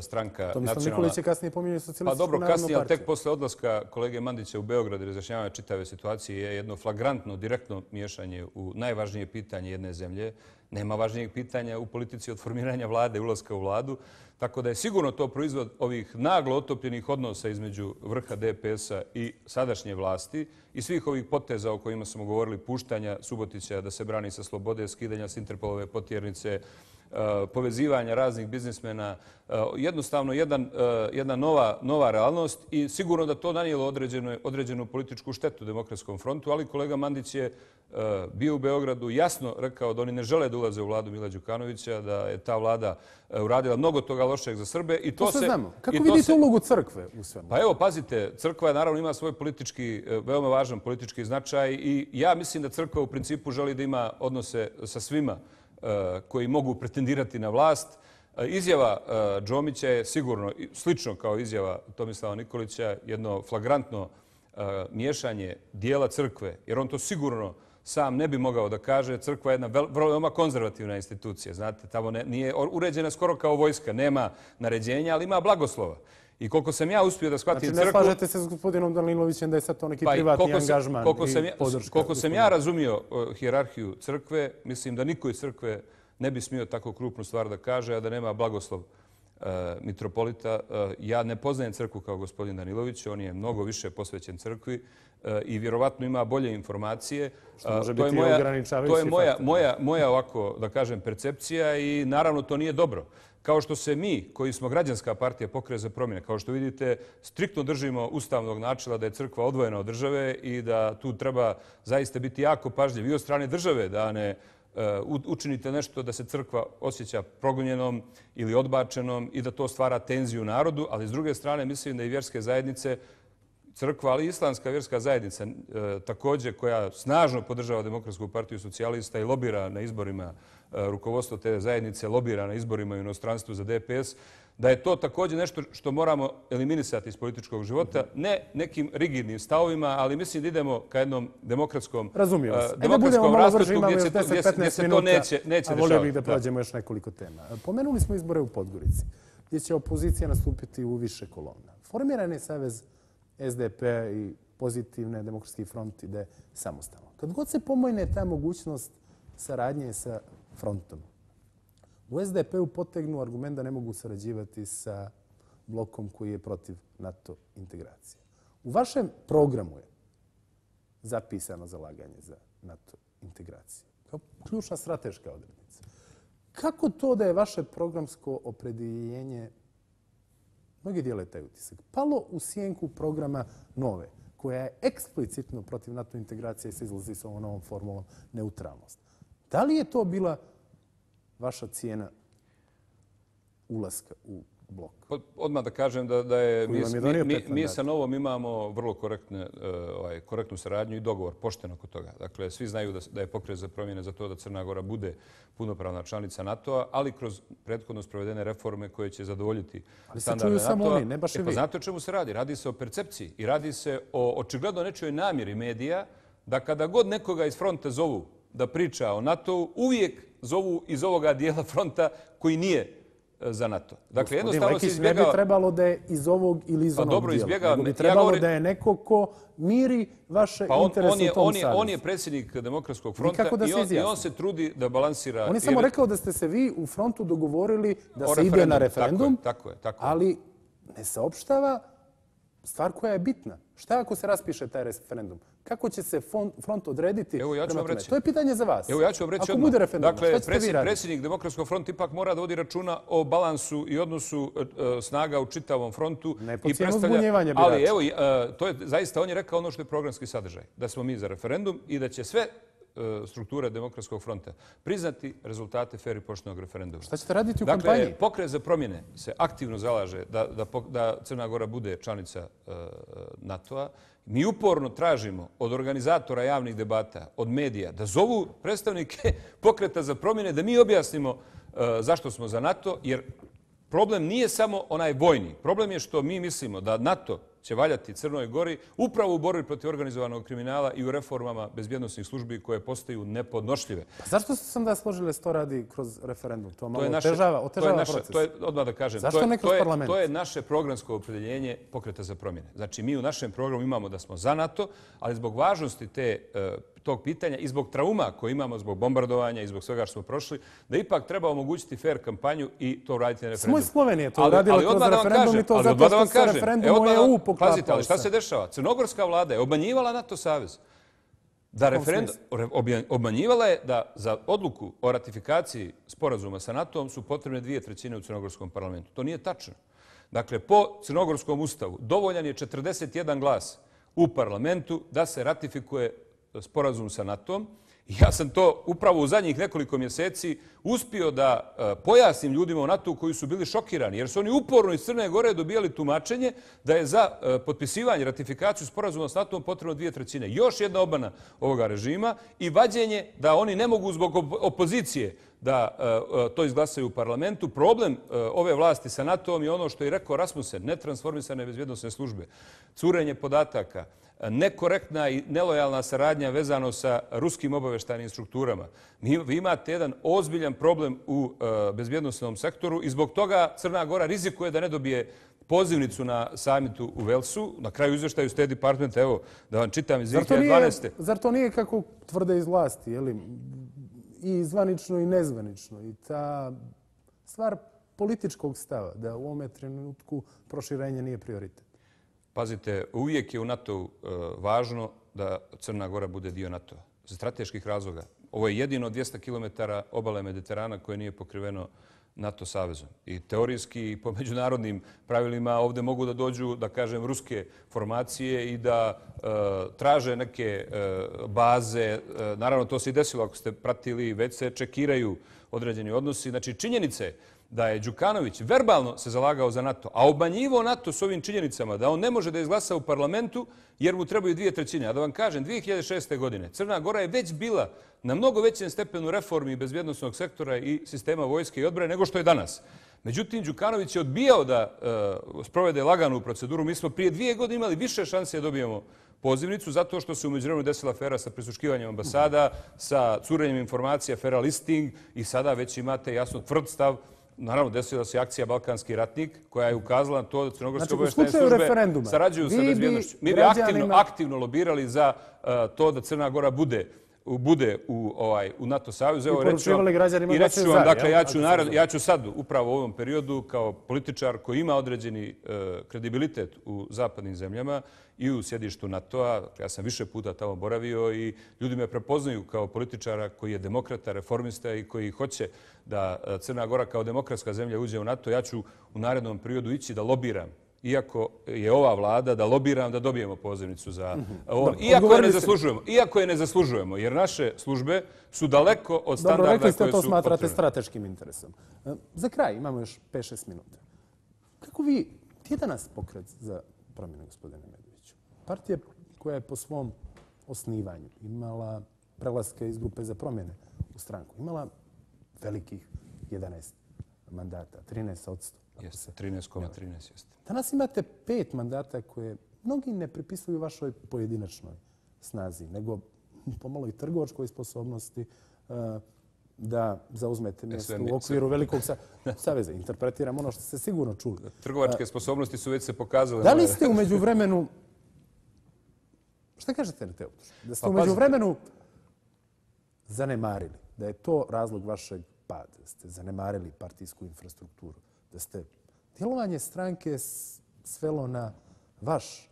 stranka nacionalna. Tomislav Nikolić je kasnije pominjao Socijalističku narodnu partiju. Pa dobro, kasnije, ali tek posle odlaska kolege Mandića u Beograd i razjašnjavanja čitave situacije je jedno flagrantno, direktno miješanje u najvažnije pitanje jedne zemlje. Nema važnijeg pitanja u politici od formiranja vlade, ulaska u vladu. Tako da je sigurno to proizvod ovih naglo otopljenih odnosa između vrha DPS-a i sadašnje vlasti i svih ovih poteza o kojima smo govorili, puštanja Subotića da se brani sa slobode, skidanja s Interpolove potjernice, povezivanja raznih biznismena, jednostavno jedna nova realnost i sigurno da to nanijelo određenu političku štetu Demokratskom frontu, ali kolega Mandić je bio u Beogradu, jasno rekao da oni ne žele da ulaze u vladu Mila Đukanovića, da je ta vlada uradila mnogo toga lošeg za Srbe. To se znamo. Kako vidite ulogu crkve u svemu? Pa evo, pazite, crkva naravno ima svoj politički, veoma važan politički značaj i ja mislim da crkva u principu želi da ima odnose sa svima koji mogu pretendirati na vlast. Izjava Džomića je sigurno slično kao izjava Tomislava Nikolića, jedno flagrantno miješanje dijela crkve, jer on to sigurno sam ne bi mogao da kaže. Crkva je jedna veoma konzervativna institucija. Znate, tamo nije uređena skoro kao vojska, nema naređenja, ali ima blagoslova. I koliko sam ja uspio da shvatim crkvu... Znači, ne slažete se s gospodinom Danilovićem da je sad to neki privatni angažman i podrška? Koliko sam ja razumio hijerarhiju crkve, mislim da niko iz crkve ne bi smio tako krupnu stvar da kaže, a da nema blagoslov mitropolita. Ja ne poznajem crkvu kao gospodin Danilović, on je mnogo više posvećen crkvi i vjerovatno ima bolje informacije. Što može biti ograničavajući faktor. Moja ovako, da kažem, percepcija i naravno to nije dobro. Kao što se mi, koji smo građanska partija Pokret za promjene, kao što vidite, striktno držimo ustavnog načela da je crkva odvojena od države i da tu treba zaista biti jako pažljiv i od strane države da ne učinite nešto da se crkva osjeća progonjenom ili odbačenom i da to stvara tenziju u narodu, ali s druge strane mislim da i vjerske zajednice, crkva, ali i islamska vjerska zajednica također koja snažno podržava Demokratsku partiju socijalista i lobira na izborima, rukovodstvo te zajednice lobira na izborima u inostranstvu za DPS, da je to također nešto što moramo eliminisati iz političkog života, ne nekim rigidnim stavovima, ali mislim da idemo ka jednom demokratskom raspletu gdje se to neće rešavati. Volio bih da prođemo još nekoliko tema. Pomenuli smo izbore u Podgorici, gdje će opozicija nastupiti u više kolona. Formiran je savez SDP i Pozitivne, Demokratski front ide samostalno. Kad god se pomojne ta mogućnost saradnje sa frontom, u SDP-u potegnu argument da ne mogu sarađivati sa blokom koji je protiv NATO integracije. U vašem programu je zapisano zalaganje za NATO integraciju kao ključna strateška odrednica. Kako to da je vaše programsko opredjeljenje, mnogi dijele taj utisak, palo u sjenku programa Nove, koja je eksplicitno protiv NATO integracije i se izlazi sa ovom novom formulom neutralnost? Da li je to bila vaša cijena ulaska u blok? Odmah da kažem da je mi sa Novom imamo vrlo korektnu saradnju i dogovor, pošteno oko toga. Dakle, svi znaju da je Pokret za promjene za to da Crna Gora bude punopravna članica NATO-a, ali kroz prethodno sprovedene reforme koje će zadovoljiti standarde NATO-a. Ali se čuju samo oni, ne baš i vi. Pa znate o čemu se radi? Radi se o percepciji i radi se o očigledno nečoj namjeri medija da kada god nekoga iz fronta zovu da priča o NATO-u, uvijek zovu iz ovoga dijela fronta koji nije za NATO. Dakle, jednostavno se izbjegava... Ne bi trebalo da je iz ovog ili iz onog dijela. Nego bi trebalo da je neko ko miri vaše interese u tom savezu. On je predsjednik Demokratskog fronta i on se trudi da balansira... On je samo rekao da ste se vi u frontu dogovorili da se ide na referendum, ali ne saopštava stvar koja je bitna. Šta ako se raspiše taj referendum? Kako će se front odrediti? Evo, ja ću vam reći. To je pitanje za vas. Evo, ja ću vam reći ako bude referendum, dakle, predsjednik Demokratskog fronta ipak mora da vodi računa o balansu i odnosu snaga u čitavom frontu. Ne po cijenu zbunjevanja birača. Ali evo, to je zaista, on je rekao ono što je programski sadržaj. Da smo mi za referendum i da će sve strukture Demokratskog fronta priznati rezultate fer i poštenog referenduma. Šta ćete raditi u kampanji? Dakle, Pokret za promjene se aktivno zalaže da Crna Gora bude članica NATO-a. Mi uporno tražimo od organizatora javnih debata, od medija, da zovu predstavnike Pokreta za promjene, da mi objasnimo zašto smo za NATO, jer problem nije samo onaj vojni. Problem je što mi mislimo da NATO će valjati Crnoj Gori upravo u borbi protiv organizovanog kriminala i u reformama bezbjednosnih službi koje postaju nepodnošljive. Pa zašto sam da složili to radi kroz referendum? To malo otežava proces. Odmah da kažem, zašto ne kroz parlament? To je naše programsko opredjeljenje Pokreta za promjene. Znači, mi u našem programu imamo da smo za NATO, ali zbog važnosti tog pitanja i zbog trauma koje imamo, zbog bombardovanja i zbog svega što smo prošli, da ipak treba omogućiti fair kampanju i to uraditi na referendum. Samo Slovenija to uradila kroz referendum i to zato što se referendum u EU poklapao. Pazite, ali šta se dešava? Crnogorska vlada je obmanjivala NATO savez. Obmanjivala je da za odluku o ratifikaciji sporazuma sa NATO-om su potrebne 2/3 u crnogorskom parlamentu. To nije tačno. Dakle, po crnogorskom ustavu dovoljan je 41 glas u parlamentu da se ratifikuje sporazum sa NATO-om. Ja sam to upravo u zadnjih nekoliko mjeseci uspio da pojasnim ljudima u NATO-u koji su bili šokirani, jer su oni uporno iz Crne Gore dobijali tumačenje da je za potpisivanje, ratifikaciju sporazuma s NATO-om potrebno 2/3. Još jedna obmana ovoga režima i vađenje da oni ne mogu zbog opozicije da to izglasaju u parlamentu. Problem ove vlasti sa NATO-om je ono što je rekao Rasmussen, netransformisane bezbjednosne službe, curenje podataka, nekorektna i nelojalna saradnja vezano sa ruskim obavještajnim strukturama. Vi imate jedan ozbiljan problem u bezbjednosnom sektoru i zbog toga Crna Gora rizikuje da ne dobije pozivnicu na samitu u Velsu. Na kraju izvještaju State Departmenta, evo da vam čitam iz 2012. Zar to nije kako tvrde iz vlasti, je li? I zvanično i nezvanično. I ta stvar političkog stava, da u ovome trenutku proširenje nije prioritet. Pazite, uvijek je u NATO-u važno da Crna Gora bude dio NATO-a. Za strateških razloga. Ovo je jedino 200 km obale Mediterana koje nije pokriveno NATO savezom. I teorijski i po međunarodnim pravilima ovdje mogu da dođu, da kažem, ruske formacije i da traže neke baze. Naravno, to se i desilo ako ste pratili, već se čekiraju određeni odnosi. Znači, činjenice da je Đukanović verbalno se zalagao za NATO, a obmanjivo NATO s ovim činjenicama da on ne može da izglasa u parlamentu jer mu trebaju 2/3. A da vam kažem, 2006. godine Crna Gora je već bila na mnogo većem stepenu reformi bezbjednosnog sektora i sistema vojske i odbrane nego što je danas. Međutim, Đukanović je odbijao da sprovede laganu proceduru. Mi smo prije 2 godine imali više šanse da dobijemo pozivnicu zato što se u međuvremenu desila afera sa prisluškivanjem ambasada, sa curenjem informacija, afera listing i sada već imate jasno tvrd stav. Naravno, desila se akcija Balkanski ratnik koja je ukazala na to da crnogorske obavještajne službe sarađuju sa bezbjednošću. Mi bi aktivno lobirali za to da Crna Gora bude u NATO savezu. I poručivali građanima da se za. Dakle, ja ću sad upravo u ovom periodu kao političar koji ima određeni kredibilitet u zapadnim zemljama i u sjedištu NATO-a, ja sam više puta tamo boravio i ljudi me prepoznaju kao političara koji je demokrata, reformista i koji hoće da Crna Gora kao demokratska zemlja uđe u NATO. Ja ću u narednom periodu ići da lobiram, iako je ova vlada, da lobiram da dobijemo pozivnicu za ovo. Iako je ne zaslužujemo, jer naše službe su daleko od standarda koje su... Dobro, rekli ste to smatrate strateškim interesom. Za kraj, imamo još 5-6 minuta. Kako vi, gdje je danas Pokret za promjene, gospodine Medoviću? Partija koja je po svom osnivanju imala prelaske iz grupe za promjene u stranku, imala velikih 11 mandata, 13%. Jeste, 13,13 jeste. Danas imate 5 mandata koje mnogi ne pripisuju vašoj pojedinačnoj snazi, nego pomalo i trgovačkoj sposobnosti. da zauzmete mjesto u okviru velikog saveza. Interpretiram ono što ste sigurno čuli. Trgovačke sposobnosti su već se pokazale. Da li ste umeđu vremenu... Šta kažete na te optužbe? Da ste umeđu vremenu zanemarili, da je to razlog vašeg pada, da ste zanemarili partijsku infrastrukturu, da ste djelovanje stranke svelo na vaš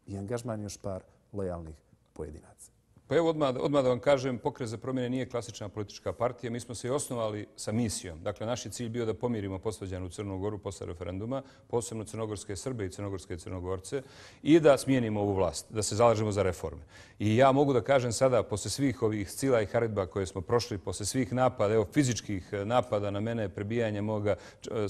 i angažman još par lojalnih pojedinaca. Pa evo odmah da vam kažem, Pokret za promjene nije klasična politička partija. Mi smo se i osnovali sa misijom. Dakle, naš je cilj bio da pomirimo posvađanu Crnu Goru posle referenduma, posebno crnogorske Srbe i crnogorske Crnogorce, i da smijenimo ovu vlast, da se zalažemo za reforme. I ja mogu da kažem sada, posle svih ovih scila i haridba koje smo prošli, posle svih napada, evo fizičkih napada na mene, prebijanja moga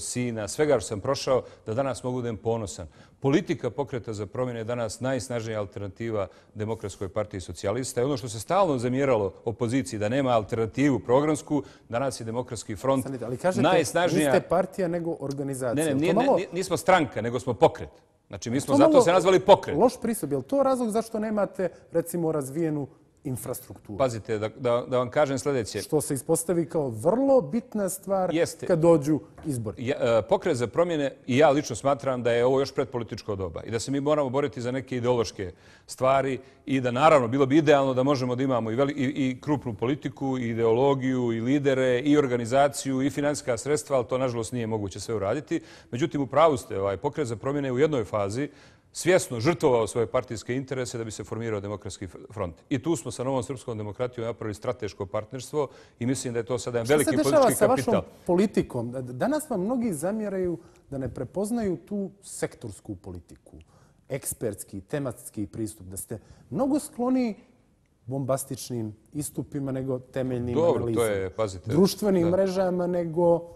sina, svega što sam prošao, da danas mogu da budem ponosan. Politika Pokreta za promjene je danas najsnažnija alternativa Demokratskoj partiji socijalista. I ono što se stalno zamjeralo opoziciji da nema alternativu programsku, danas je Demokratski front najsnažnija... Ali kažete, niste partija nego organizacija. Ne, nismo stranka, nego smo pokret. Znači, mi smo zato se nazvali pokret. Loš pristup. Je li to razlog zašto nemate, recimo, razvijenu infrastrukturu? Pazite, da vam kažem sljedeće. Što se ispostavi kao vrlo bitna stvar kad dođu izbori. Pokret za promjene, i ja lično smatram da je ovo još predpolitičko doba i da se mi moramo boriti za neke ideološke stvari i da naravno bilo bi idealno da možemo da imamo i krupnu politiku, i ideologiju, i lidere, i organizaciju, i finansijska sredstva, ali to nažalost nije moguće sve uraditi. Međutim, u pravu ste, Pokret za promjene u jednoj fazi svjesno žrtvovao svoje partijske interese da bi se formirao Demokratski front. I tu smo sa Novom srpskom demokratijom napravili strateško partnerstvo i mislim da je to sada jedan veliki politički kapital. Šta se dešava sa vašom politikom? Danas vam mnogi zamjeraju da ne prepoznaju tu sektorsku politiku, ekspertski, tematski pristup, da ste mnogo skloni bombastičnim istupima nego temeljnim analizama. Društvenim mrežama nego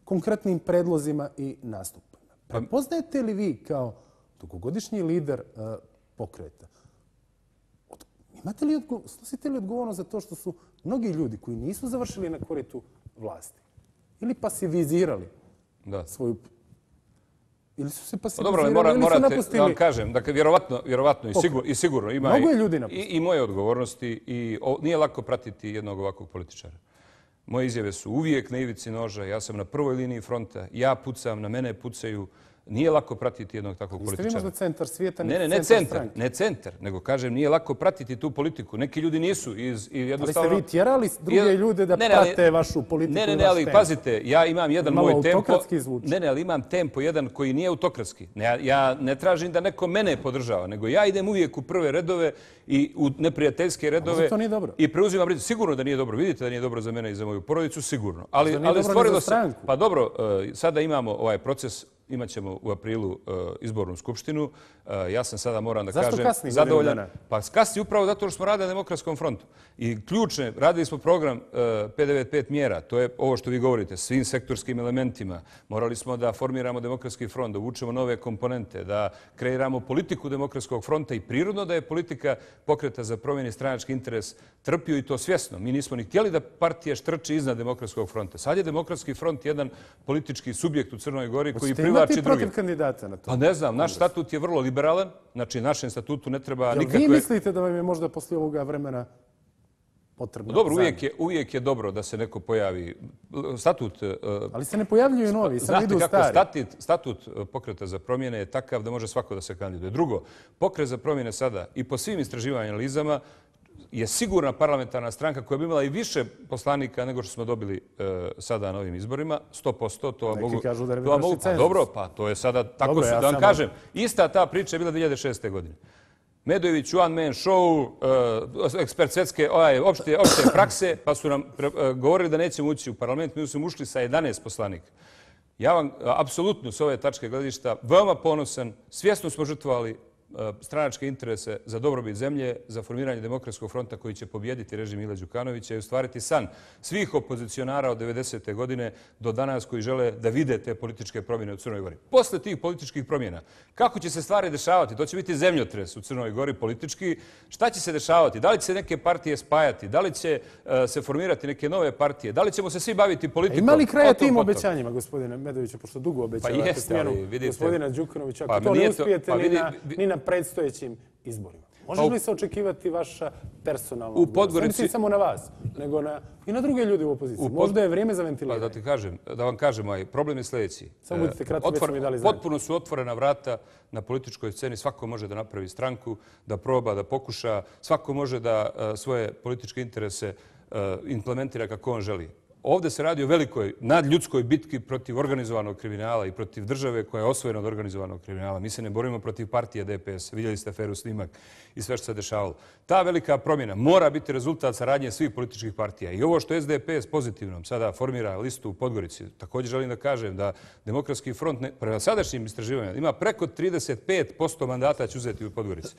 konkretnim predlozima i nastupima. Prepoznajete li vi kao dugogodišnji lider pokreta, snosite li odgovornost za to što su mnogi ljudi koji nisu završili na koritu vlasti ili pasivizirali svoju... Ili su se pasivizirali ili su napustili... Da vam kažem, dakle, vjerovatno i sigurno ima i moje odgovornosti i nije lako pratiti jednog ovakvog političara. Moje izjave su uvijek na ivici noža, ja sam na prvoj liniji fronta, ja pucam, na mene pucaju. Nije lako pratiti jednog takvog političara. Jeste vi možda centar svijeta, Ne centar, nego kažem nije lako pratiti tu politiku. Neki ljudi nisu. Ali ste vi tjerali druge ljude da prate vašu politiku i vaš tempo? Ali pazite, ja imam jedan moj tempo... Malo autokratski zvuči. Ali imam tempo jedan koji nije autokratski. Ja ne tražim da neko mene podržava, nego ja idem uvijek u prve redove i u neprijateljske redove. To nije dobro. I preuzimam rizik. Sigurno da nije dobro. Vidite da nije dobro za mene i za moju porodicu, sigurno. Ali stvorilo se... Pa dobro, sada imamo ovaj proces. Imaćemo u aprilu izbornu skupštinu. Ja sam sada, moram da kažem, zadovoljan. Pa kasni upravo zato što smo radili na Demokratskom frontu. I ključne, radili smo program 595 mjera. To je ovo što vi govorite, svim sektorskim elementima. Morali smo da formiramo Demokratski front, da uvučemo nove komponente, da kreiramo politiku Demokratskog fronta i prirodno da je politika Pokreta za promjene stranački interes trpio i to svjesno. Mi nismo ni htjeli da partija štrči iznad Demokratskog fronta. Sad je Demokratski front jedan politički subjekt u Crnoj Gori koji imati protiv kandidata na to? Pa ne znam, naš statut je vrlo liberalan. Znači, našem statutu ne treba nikakve... Vi mislite da vam je možda poslije ovoga vremena potrebno? Dobro, uvijek je dobro da se neko pojavi. Statut... Ali se ne pojavljuju novi, sad idu stari. Znate kako, statut Pokreta za promjene je takav da može svako da se kandiduje. Drugo, Pokret za promjene sada i po svim istraživanjima analizama je sigurna parlamentarna stranka koja bi imala i više poslanika nego što smo dobili sada na ovim izborima. 100%. Neki kažu da ne bi naši cenzus. Dobro, pa to je sada tako da vam kažem. Ista ta priča je bila 2006. godine. Medojević, one man show, ekspert svetske opšte prakse, pa su nam govorili da nećemo ući u parlament. Mi smo ušli sa 11 poslanika. Ja vam apsolutno s ove tačke gledišta veoma ponosan. Svjesno smo žrtvovali stranačke interese za dobrobit zemlje, za formiranje Demokratskog fronta koji će pobijediti režim Mila Đukanovića i ostvariti san svih opozicionara od 90. godine do danas koji žele da vide te političke promjene u Crnoj Gori. Posle tih političkih promjena, kako će se stvari dešavati? To će biti zemljotres u Crnoj Gori politički. Šta će se dešavati? Da li će se neke partije spajati? Da li će se formirati neke nove partije? Da li ćemo se svi baviti politikom? Ima li kraja tim obećanjima, gospodine Medoviću, pošto dugo obećavate smjenu gospodina Đukanovića? Ako to ne uspijete ni na predstojećim izborima. Može li se očekivati vaša personalno odgovornost. Ne mislim samo na vas, nego i na druge ljude u opoziciji. Možda je vrijeme za ventiliranje. Da vam kažem, problem je sljedeći. Samo budite kratki, već mi dali znanje. Potpuno su otvorena vrata na političkoj sceni. Svako može da napravi stranku, da proba, da pokuša. Svako može da svoje političke interese implementira kako on želi. Ovdje se radi o velikoj nadljudskoj bitki protiv organizovanog kriminala i protiv države koja je osvojena od organizovanog kriminala. Mi se ne borimo protiv partije DPS. Vidjeli ste aferu Snimak i sve što se dešavalo. Ta velika promjena mora biti rezultat saradnje svih političkih partija. I ovo što SDS pozitivnom sada formira listu u Podgorici, također želim da kažem da Demokratski front prema sadašnjim istraživanjima ima preko 35% mandata će uzeti u Podgorici.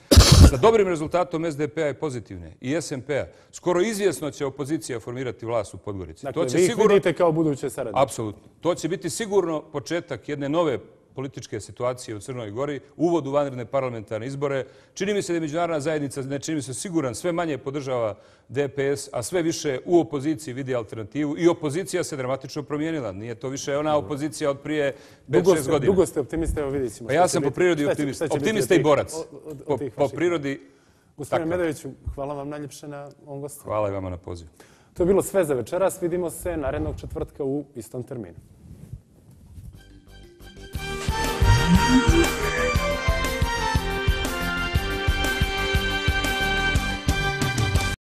Sa dobrim rezultatom SDP-a je pozitivne i SMP-a. Skoro izvjesno će opozicija formirati vlast u Podgorici. Vi ih vidite kao buduće saradnike. Apsolutno. To će biti sigurno početak jedne nove političke situacije u Crnoj Gori, uvod u vanredne parlamentarne izbore. Čini mi se da je međunarodna zajednica, ne čini mi se siguran, sve manje podržava DPS, a sve više u opoziciji vidi alternativu i opozicija se dramatično promijenila. Nije to više ona opozicija od prije 5-6 godina. Dugo ste optimiste, evo vidjet ćemo. Pa ja sam po prirodi optimista. Optimista i borac. Po prirodi... Gospodine Medoviću, hvala vam najljepše na ovom gostovanju. Hvala i vama na pozivu. To je bilo sve za večeras. Vidimo se narednog četvrtka u istom terminu.